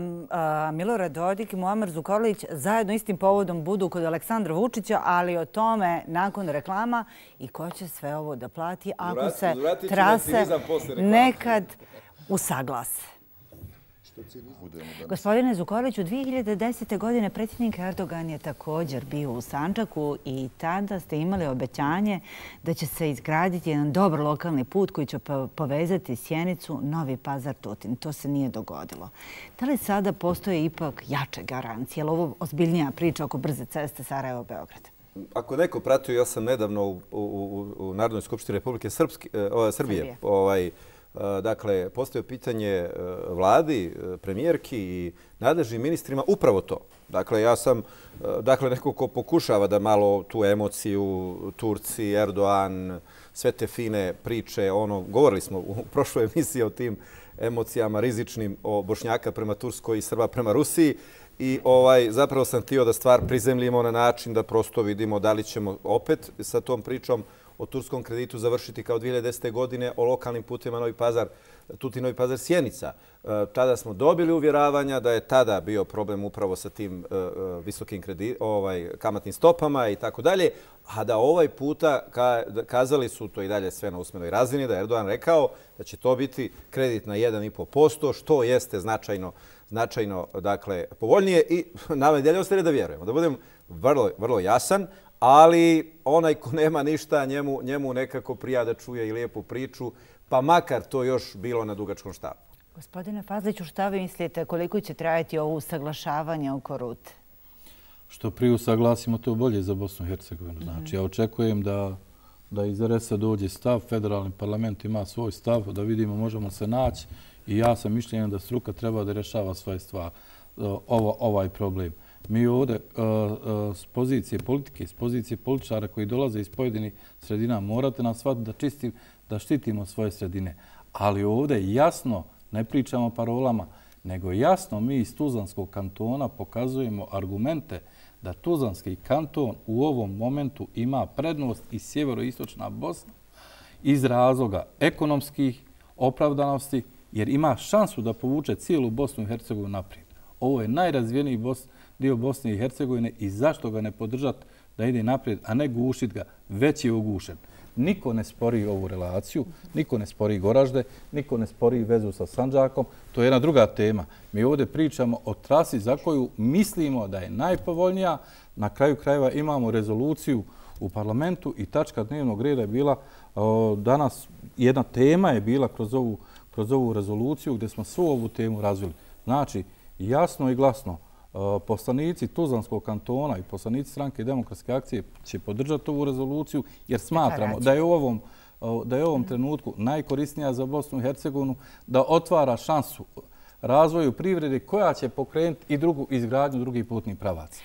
Milorad Dodik i Muamer Zukorlić zajedno istim povodom budu kod Aleksandra Vučića, ali o tome nakon reklama i ko će sve ovo da plati ako se trase nekad usaglase. Gospodine Zukorliću, 2010. godine predsjednik Erdogan je također bio u Sandžaku i tada ste imali obećanje da će se izgraditi jedan dobar lokalni put koji će povezati Sjenicu, Novi Pazar, Tutin. To se nije dogodilo. Da li sada postoje ipak jače garancije? Je li ovo ozbiljnija priča oko brze ceste Sarajevo-Beograd? Ako neko pratio, ja sam nedavno u Narodnoj skupštini Republike Srbije dakle, postavio pitanje vladi, premijerki i nadležnim ministrima upravo to. Dakle, ja sam neko ko pokušava da malo tu emociju, Turci, Erdoğan, sve te fine priče, govorili smo u prošloj emisiji o tim emocijama rizičnim o Bošnjaka prema Turskoj i Srba prema Rusiji i zapravo sam htio da stvar prizemljimo na način da prosto vidimo da li ćemo opet sa tom pričom o turskom kreditu završiti kao 2010. godine o lokalnim putima Novi Pazar, Tutin, Novi Pazar, Sjenica. Tada smo dobili uvjeravanja da je tada bio problem upravo sa tim visokim kamatnim stopama i tako dalje, a da ovaj puta kazali su to i dalje sve na usmenoj razini, da je Erdoğan rekao da će to biti kredit na 1,5%, što jeste značajno dakle, povoljnije i nama i dalje ostaje da vjerujemo. Da budem vrlo jasan, ali onaj ko nema ništa, njemu nekako prija da čuje i lijepu priču, pa makar to još bilo na dugačkom štapu. Gospodine Fazliću, šta vi mislite, koliko će trajati ovo usaglašavanje oko rute? Što prije usaglasimo, to bolje za Bosnu i Hercegovinu. Znači, ja očekujem da iz RS-a dođe stav, federalni parlament ima svoj stav, da vidimo možemo se naći i ja sam mišljenja da struka treba da rješava svoje stvari, ovaj problem. Mi ovdje s pozicije politike, s pozicije političara koji dolaze iz pojedinih sredina, morate nam shvatiti da štitimo svoje sredine. Ali ovdje jasno, ne pričamo parolama, nego jasno mi iz Tuzlanskog kantona pokazujemo argumente da Tuzlanski kanton u ovom momentu ima prednost i sjeveroistočna Bosna iz razloga ekonomskih opravdanosti, jer ima šansu da povuče cijelu Bosnu i Hercegovinu naprijed. Ovo je najrazvijeniji dio Bosne i Hercegovine i zašto ga ne podržati da ide naprijed, a ne gušiti ga, već je ugušen. Niko ne spori ovu relaciju, niko ne spori Goražde, niko ne spori vezu sa Sandžakom. To je jedna druga tema. Mi ovdje pričamo o trasi za koju mislimo da je najpovoljnija. Na kraju krajeva imamo rezoluciju u parlamentu i tačka dnevnog reda je bila danas, jedna tema je bila kroz ovu rezoluciju gdje smo svu ovu temu razvili. Znači, jasno i glasno, poslanici Tuzlanskog kantona i poslanici Stranke demokratske akcije će podržati ovu rezoluciju jer smatramo da je u ovom trenutku najkorisnija za Bosnu i Hercegovinu, da otvara šansu razvoju privrede koja će pokrenuti i izgradnju drugih putnih pravaca.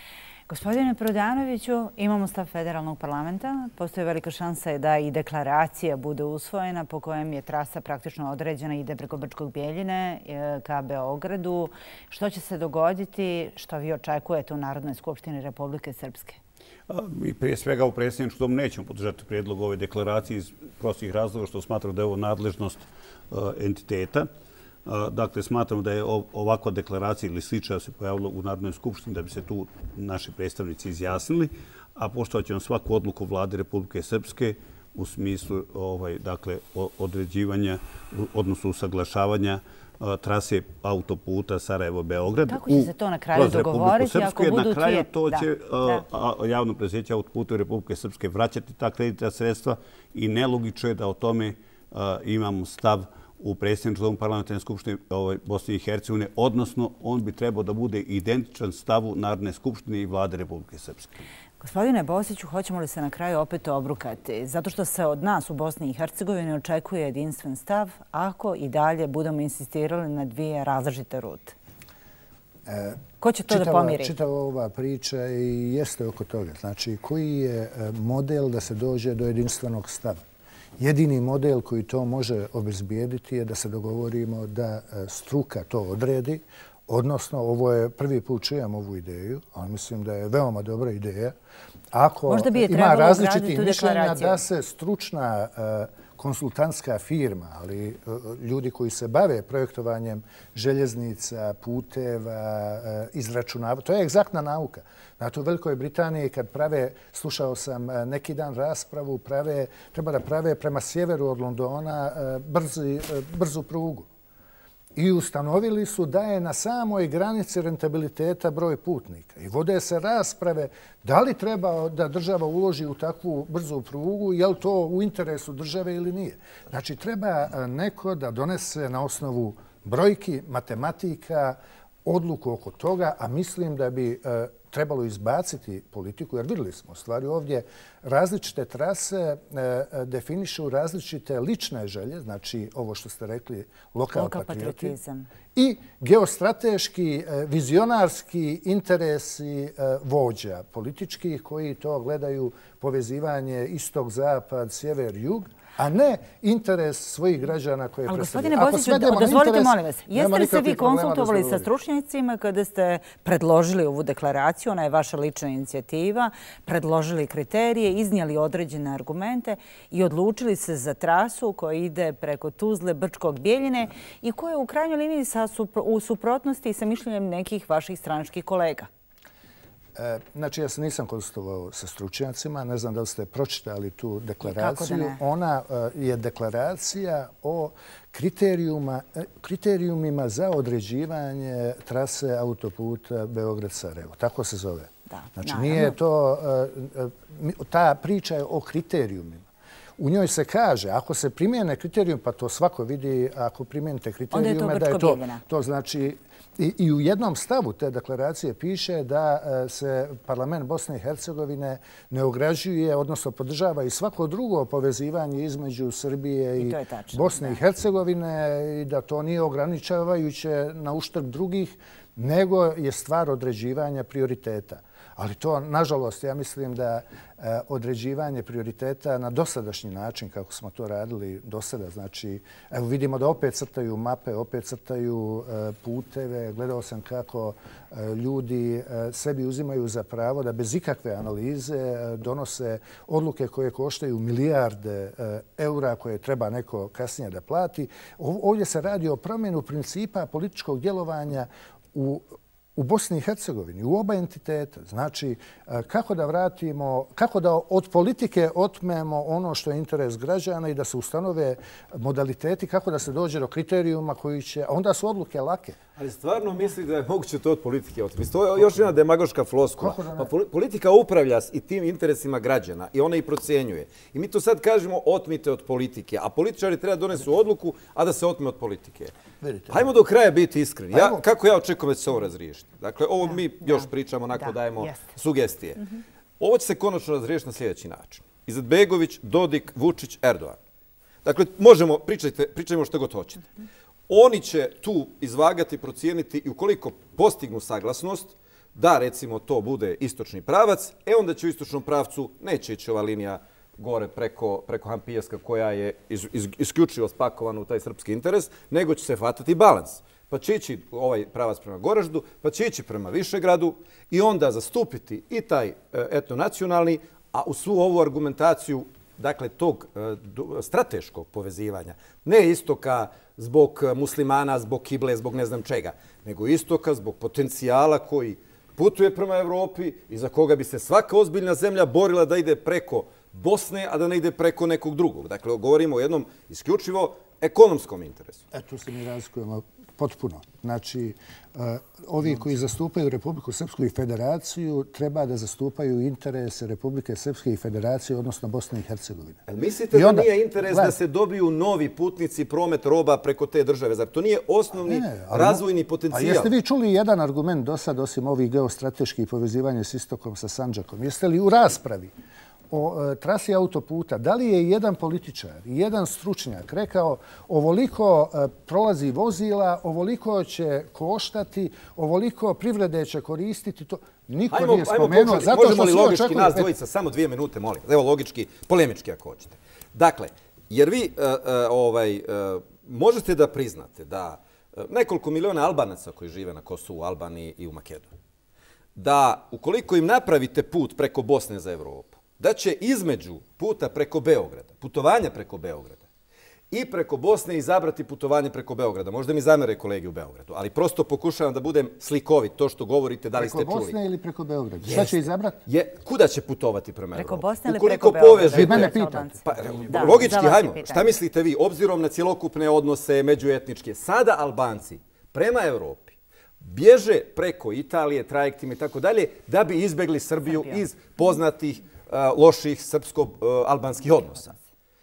Gospodine Prodanoviću, imamo stav federalnog parlamenta. Postoji velika šansa da i deklaracija bude usvojena po kojem je trasa praktično određena i ide preko Brčkog Bjeljine ka Beogradu. Što će se dogoditi? Što vi očekujete u Narodnoj skupštini Republike Srpske? Mi prije svega u predsjedničkom domu nećemo podržati prijedlog ove deklaracije iz prostih razloga što smatramo da je ovo nadležnost entiteta. Dakle, smatramo da je ovakva deklaracija ili slična se pojavila u Narodnoj skupštini da bi se tu naši predstavnici izjasnili, a poštovat ćemo svaku odluku Vlade Republike Srpske u smislu određivanja, odnosno usaglašavanja trase autoputa Sarajevo-Beograd. Kako će se to na kraju dogovoriti ako budu na kraju to će javno preduzeće autoputa Republike Srpske vraćati ta kreditna sredstva i nelogično je da o tome imamo stav u predsjedničkom parlamentarne skupštine Bosne i Hercegovine, odnosno on bi trebao da bude identičan stavu Narodne skupštine i Vlade Republike Srpske. Gospodine Bosiću, hoćemo li se na kraju opet obrukati? Zato što se od nas u Bosni i Hercegovini očekuje jedinstven stav ako i dalje budemo insistirali na dvije različite rute. Ko će to da pomiri? Čitava ova priča i jeste oko toga. Znači, koji je model da se dođe do jedinstvenog stava? Jedini model koji to može obezbijediti je da se dogovorimo da struka to odredi, odnosno ovo je prvi put čujem ovu ideju, ali mislim da je veoma dobra ideja. Ako ima različitih mišljenja da se stručna konsultantska firma, ali ljudi koji se bave projektovanjem željeznica, puteva, izračunava, to je egzaktna nauka. Znate, u Velikoj Britaniji kad prave, slušao sam neki dan raspravu, treba da prave prema sjeveru od Londona brzu prugu. I ustanovili su da je na samoj granici rentabiliteta broj putnika. I vode se rasprave da li treba da država uloži u takvu brzu prugu, je li to u interesu države ili nije. Znači, treba neko da donese na osnovu brojki, matematika, odluku oko toga, a mislim da bi trebalo izbaciti politiku, jer vidjeli smo u stvari ovdje različite trase definišu različite lične želje, znači ovo što ste rekli, lokal patriotizam, i geostrateški, vizionarski interesi vođa političkih koji to gledaju povezivanje istok-zapad, sjever-jug, a ne interes svojih građana koje predstavljaju. Ali gospodine Bosiću, dozvolite molim vas, jeste li se vi konsultovali sa stručnjacima kada ste predložili ovu deklaraciju, ona je vaša lična inicijativa, predložili kriterije, iznijeli određene argumente i odlučili se za trasu koja ide preko Tuzle, Brčkog, Bijeljine i koja je u krajnjoj liniji u suprotnosti sa mišljenjem nekih vaših stranačkih kolega? Znači, ja se nisam konsultovao sa stručnjacima, ne znam da li ste pročitali tu deklaraciju. Ona je deklaracija o kriterijumima za određivanje trase autoputa Beograd-Sarajevo. Tako se zove. Znači, nije to... Ta priča je o kriterijumima. U njoj se kaže, ako se primijene kriterijum, pa to svako vidi, ako primijenite kriterijume, da je to znači... I u jednom stavu te deklaracije piše da se parlament Bosne i Hercegovine ne ograđuje, odnosno podržava i svako drugo povezivanje između Srbije i Bosne i Hercegovine i da to nije ograničavajuće na uštrb drugih, nego je stvar određivanja prioriteta. Ali to, nažalost, ja mislim da određivanje prioriteta na dosadašnji način, kako smo to radili do sada, znači, evo vidimo da opet crtaju mape, opet crtaju puteve. Gledao sam kako ljudi sebi uzimaju za pravo da bez ikakve analize donose odluke koje koštaju milijarde eura koje treba neko kasnije da plati. Ovdje se radi o promjenu principa političkog djelovanja u Bosni i Hercegovini, u oba entiteta. Znači, kako da od politike otmemo ono što je interes građana i da se ustanove modaliteti, kako da se dođe do kriterijuma koji će... A onda su odluke lake. Ali stvarno misli da je moguće to od politike otmeti? To je još jedna demagoška floskula. Politika upravlja i tim interesima građana i ona ih procjenjuje. I mi to sad kažemo otmite od politike, a političari treba donesu odluku, a da se otme od politike. Hajmo do kraja biti iskreni. Kako ja očekujem da će se ovo razriješiti? Dakle, ovo mi još pričamo, onako dajemo sugestije. Ovo će se konačno razriješiti na sljedeći način. Izetbegović, Dodik, Vučić, Erdogan. Dakle, možemo, pričajmo što god hoćete. Oni će tu izvagati, procijeniti i ukoliko postignu saglasnost da, recimo, to bude istočni pravac, onda će u istočnom pravcu neće ići ova linija gore preko Hampijeska koja je isključivo spakovana u taj srpski interes, nego će se hvatati balans. Pa će ići ovaj pravac prema Goraždu, pa će ići prema Višegradu i onda zastupiti i taj etnonacionalni, a u svu ovu argumentaciju, dakle, tog strateškog povezivanja, ne istoka zbog muslimana, zbog kible, zbog ne znam čega, nego istoka zbog potencijala koji putuje prema Evropi i za koga bi se svaka ozbiljna zemlja borila da ide preko Bosne, a da ne ide preko nekog drugog. Dakle, govorimo o jednom isključivo ekonomskom interesu. Tu se mi razlikujemo potpuno. Znači, ovi koji zastupaju Republiku Srpsku i Federaciju treba da zastupaju interese Republike Srpske i Federacije, odnosno Bosne i Hercegovine. Mislite da nije interes da se dobiju novi putnici, promet roba preko te države? Zar to nije osnovni razvojni potencijal? A jeste vi čuli jedan argument do sad, osim ovih geostrateških povezivanja s istokom, sa Sandžakom? Jeste li u raspravi o trasi autoputa, da li je jedan političar, jedan stručnjak rekao ovoliko prolazi vozila, ovoliko će koštati, ovoliko privrede će koristiti, to niko nije spomenuo. Možemo li logički nas dvojica, samo 2 minute, molim. Evo logički, polemički ako hoćete. Dakle, jer vi možete da priznate da nekoliko miliona Albanaca koji žive na Kosovu, Albaniji i u Makedoniji, da ukoliko im napravite put preko Bosne za Evropu, da će između puta preko Beograda, putovanja preko Beograda i preko Bosne izabrati putovanje preko Beograda. Možda mi zamere kolegi u Beogradu, ali prosto pokušavam da budem slikovit. To što govorite, da li ste čuli. Preko Bosne ili preko Beograda? Šta će izabrati? Kuda će putovati prema Evropi? Preko Bosne ili preko Beograda? Mene pitate. Logički, hajmo. Šta mislite vi, obzirom na cjelokupne odnose međuetničke, sada Albanci prema Evropi bježe preko Italije, trajektima i tako dalje, da bi izbjegli Srbiju iz poznatih loših srpsko-albanskih odnosa.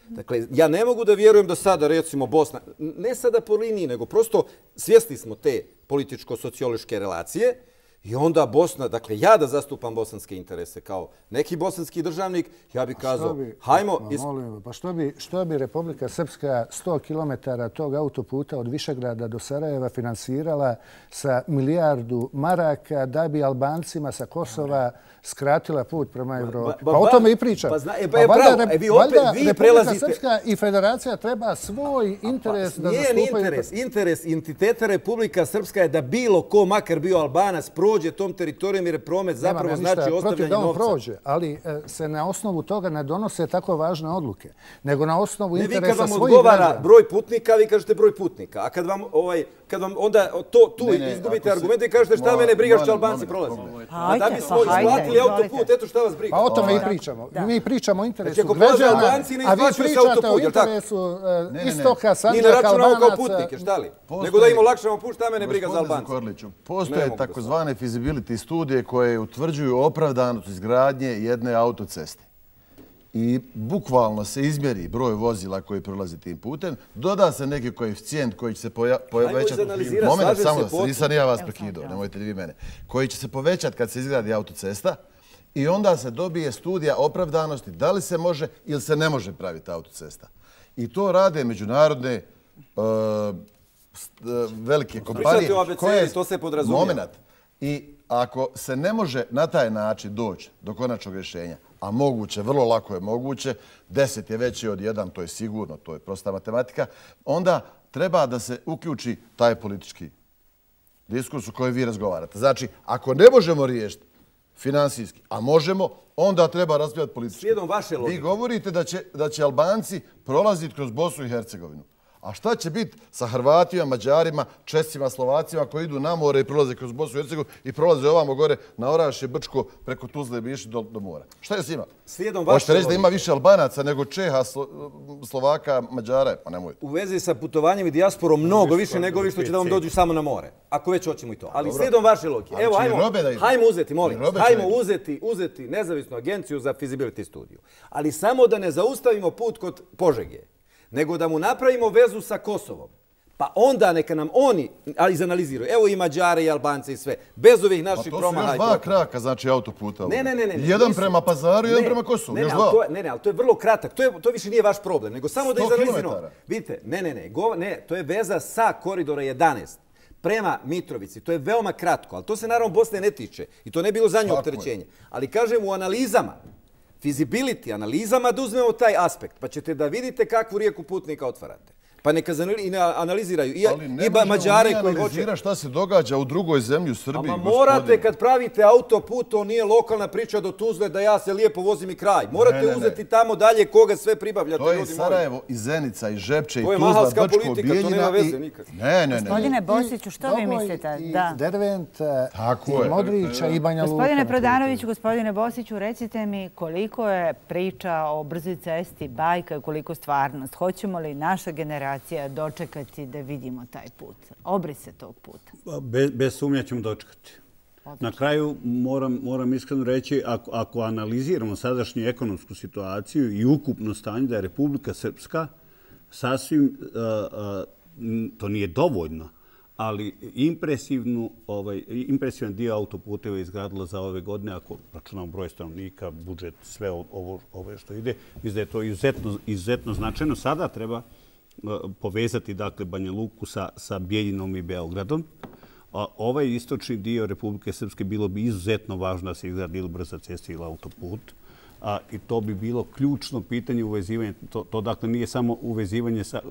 Dakle, ja ne mogu da vjerujem da sada, recimo, Bosna, ne sada po liniji, nego prosto svjesni smo te političko-sociološke relacije i onda Bosna, dakle, ja da zastupam bosanske interese kao neki bosanski državnik, ja bih kazao, hajmo... Pa što bi Republika Srpska 100 kilometara tog autoputa od Višegrada do Sarajeva finansirala sa milijardu maraka da bi Albancima sa Kosova skratila put prema Evropi? Pa o tome i pričam. Valjda Republika Srpska i Federacija treba svoj interes da zastupaju... Interes entiteta Republika Srpska je da bilo ko, makar bio Albanac, prođe tom teritorijom jer promet zapravo znači ostavljanje novca. Ali se na osnovu toga ne donose tako važne odluke, nego na osnovu interesa svojih građana. Vi kad vam odgovara broj putnika, vi kažete broj putnika. A kad vam onda tu izgubite argumente i kažete šta mene briga što Albanci prolaze. A da bismo isplatili autoput, eto šta vas briga. Pa o tome i pričamo. Mi pričamo o interesu građana, a vi pričate o interesu istoka, Sandžaka, Albanaca. Nego da im olakšamo put, šta mene briga za Albance. Postoje takozvane feasibility studije koje utvrđuju opravdanost izgradnje jedne autoceste. I bukvalno se izmjeri broj vozila koji prolazi tim putem, doda se neki koeficijent koji će se povećati... Moment, samo, nisam ja vas prekidao, nemojte vi mene. Koji će se povećati kad se izgradi autocesta i onda se dobije studija opravdanosti da li se može ili se ne može praviti autocesta. I to rade međunarodne velike kompanije. Pričate o ABCD, to se podrazumijeva. Moment. I ako se ne može na taj način doći do konačnog rješenja, a moguće, vrlo lako je moguće, 10 je veći od 1, to je sigurno, to je prosta matematika, onda treba da se uključi taj politički diskurs u kojem vi razgovarate. Znači, ako ne možemo riješiti finansijski, a možemo, onda treba razvijati politički. Slijedom vaše logike. Vi govorite da će Albanci prolaziti kroz Bosnu i Hercegovinu. A šta će biti sa Hrvatima, Mađarima, Česima, Slovacima koji idu na more i prolaze kroz Bosnu i Hercegovinu i prolaze ovamo gore na Orašje, Brčko, preko Tuzle i išli do mora? Šta je s njima? Hoćete reći da ima više Albanaca nego Čeha, Slovaka, Mađara? Pa nemojte. U vezi sa putovanjem i dijasporom mnogo više nego vi što će da vam dođu samo na more. Ako već hoćemo i to. Ali slijedom vaše logike. Evo, hajmo uzeti, molim. Hajmo uzeti nezavisnu agenciju za feasibility studiju. Ali samo da ne zaustavimo put kod Požege, nego da mu napravimo vezu sa Kosovom. Pa onda neka nam oni izanaliziraju. Evo i Mađare i Albance i sve. Bez ovih naših promaha. Pa to su još 2 kraka, znači autoputa. Ne. Jedan prema Pazaru, jedan prema Kosovu. Još 2. Ne, ali to je vrlo kratak. To više nije vaš problem. Nego samo da izanaliziramo. Vidite, ne. To je veza sa koridora 11 prema Mitrovici. To je veoma kratko, ali to se naravno Bosne ne tiče. I to ne bilo za nju opterećenje. Ali kažem u analizama, feasibility analizama da uzmemo taj aspekt, pa ćete da vidite kakvu rijeku putnika otvarate. Pa neka analiziraju i Mađare koji hoće... Ali ne možemo šta se događa u drugoj zemlji u Srbiji. Ama morate kad pravite autoput, to nije lokalna priča do Tuzle da ja se lijepo vozim i kraj. Morate uzeti tamo dalje koga sve pribavljate. To je Sarajevo i Zenica i Žepče i Tuzla, Brčko, Bijeljina i... Ne. Gospodine Bosiću, što vi mislite? Dervent i Modrića i Banja Luka. Gospodine Prodanoviću, gospodine Bosiću, recite mi koliko je priča o brzoj cesti bajka i koliko stvarnost. Hoćemo li naša generacija dočekati da vidimo taj put? Obrise tog puta. Bez sumnja ćemo dočekati. Na kraju moram iskreno reći, ako analiziramo sadašnju ekonomsku situaciju i ukupno stanje da je Republika Srpska sasvim, to nije dovoljno, ali impresivan dio autoputeva je izgradila za ove godine, ako računamo broj stanovnika, budžet, sve ovo što ide, mislim da je to izuzetno značajno. Sada treba povezati dakle Banja Luku sa Bijeljinom i Beogradom. Ovaj istočni dio Republike Srpske bilo bi izuzetno važno da se izgradi ili brza cesta ili autoput. I to bi bilo ključno pitanje uvezivanja. To dakle nije samo uvezivanje sa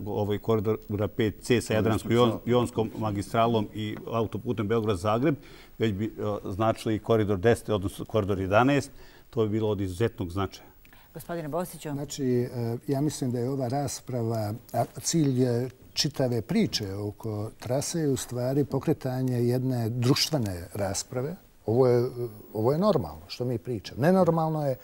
koridora 5C sa Jadransko-Jonskom magistralom i autoputem Beograd-Zagreb, već bi značilo i koridor 10, odnosno koridor 11. To bi bilo od izuzetnog značaja. Gospodine Bosiću. Znači, ja mislim da je ova rasprava, cilj čitave priče oko trase je u stvari pokretanje jedne društvene rasprave. Ovo je normalno što mi pričamo. Nenormalno je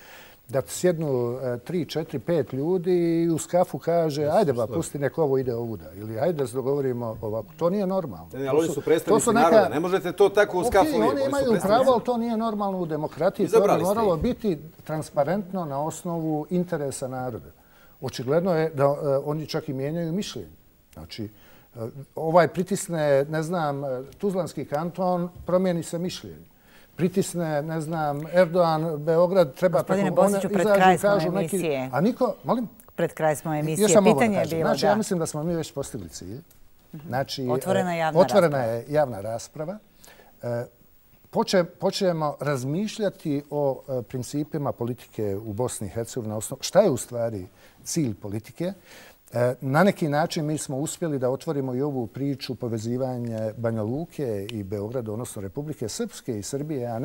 da sjednu 3, 4, 5 ljudi i uz kafu kaže ajde ba, pusti nek ovo ide ovuda. Ili ajde da se dogovorimo ovako. To nije normalno. Ali oni su predstavnici naroda. Ne možete to tako uz kafu. Oni imaju pravo, ali to nije normalno u demokratiji. To bi moralo biti transparentno na osnovu interesa naroda. Očigledno je da oni čak i mijenjaju mišljenje. Znači, ovaj pritisne, ne znam, Tuzlanski kanton, promijeni se mišljenje. Pritisne, ne znam, Erdogan, Beograd, treba... Gospodine Bosiću, pred kraj smo emisije. A niko, molim? Pred kraj smo emisije. Pitanje je bilo, znači, ja mislim da smo mi već postigli cilj. Znači, otvorena je javna rasprava. Počnemo razmišljati o principima politike u Bosni i Hercegovini. Šta je u stvari cilj politike? Na neki način mi smo uspjeli da otvorimo i ovu priču povezivanje Banja Luke i Beograda, odnosno Republike Srpske i Srbije, a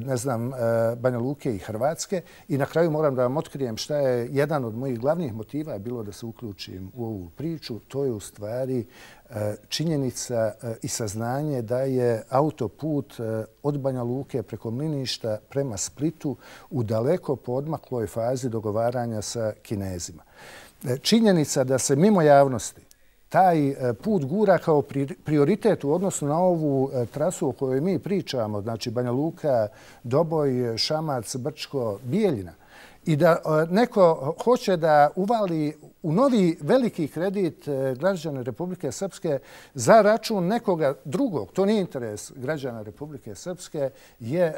ne znam, Banja Luke i Hrvatske. I na kraju moram da vam otkrijem šta je jedan od mojih glavnih motiva bilo da se uključim u ovu priču. To je u stvari činjenica i saznanje da je autoput od Banja Luke preko Mliništa prema Splitu u daleko poodmakloj fazi dogovaranja sa Kinezima. Činjenica da se mimo javnosti taj put gura kao prioritet u odnosu na ovu trasu o kojoj mi pričamo, znači Banja Luka, Doboj, Šamac, Brčko, Bijeljina, i da neko hoće da uvali u novi veliki kredit građana Republike Srpske za račun nekoga drugog, to nije interes građana Republike Srpske, je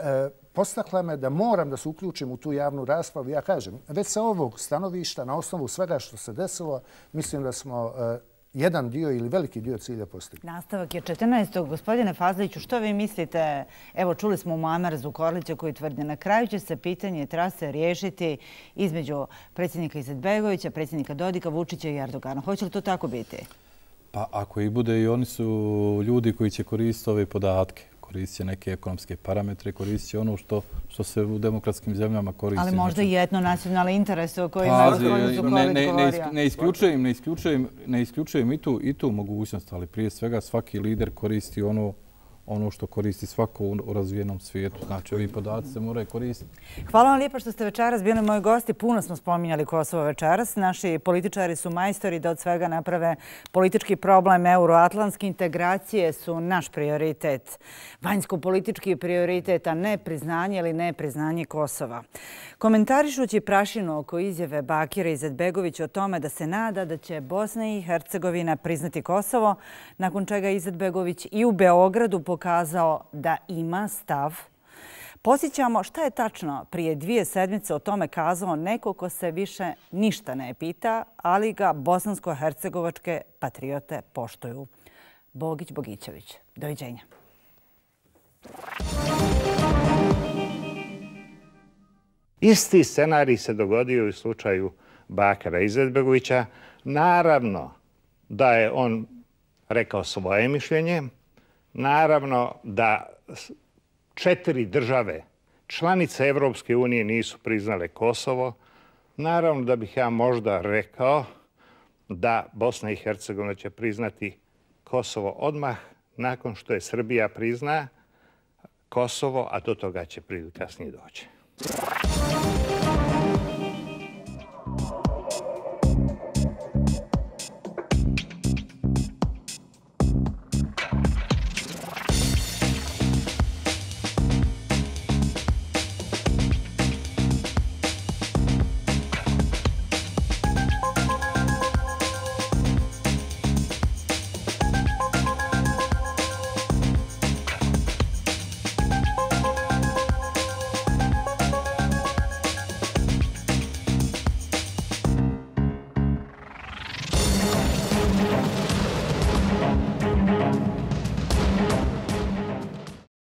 postakla me da moram da se uključim u tu javnu raspravu. Ja kažem, već sa ovog stanovišta, na osnovu svega što se desilo, mislim da smo jedan dio ili veliki dio cilja postigli. Nastavak je 14. Gospodine Fazliću, što vi mislite? Evo, čuli smo Muamera Zukorlića koji tvrdi na kraju će se pitanje trase riješiti između predsjednika Izetbegovića, predsjednika Dodika, Vučića i Erdogana. Hoće li to tako biti? Pa ako i bude, i oni su ljudi koji će koristiti ove podatke. Koristit će neke ekonomske parametre, koristit će ono što se u demokratskim zemljama koristi. Ali možda i etnonacionalni interes o kojima je gospodin Zukorlić govorio. Ne isključujem i tu mogućnost, ali prije svega svaki lider koristi ono što koristi svako u razvijenom svijetu. Znači, ovi podaci se moraju koristiti. Hvala vam lijepo što ste večeras bili moji gosti. Puno smo spominjali Kosovo večeras. Naši političari su majstori da od svega naprave politički problem. Euroatlantske integracije su naš prioritet. Vanjsko-politički prioritet, a ne priznanje ili ne priznanje Kosova. Komentarišući prašinu oko izjave Bakira Izetbegovića o tome da se nada da će Bosna i Hercegovina priznati Kosovo, nakon čega Izetbegović i u Beogradu pokazao da ima stav. Posjećamo šta je tačno prije 2 sedmice o tome kazao neko ko se više ništa ne pita, ali ga bosansko-hercegovačke patriote poštuju. Bogić Bogićević. Doviđenja. Isti scenarij se dogodio u slučaju Bakira Izetbegovića. Naravno da je on rekao svoje mišljenje. Naravno da 4 države, članice Evropske unije, nisu priznale Kosovo. Naravno da bih ja možda rekao da Bosna i Hercegovina će priznati Kosovo odmah nakon što je Srbija prizna Kosovo, a do toga će kasnije doći.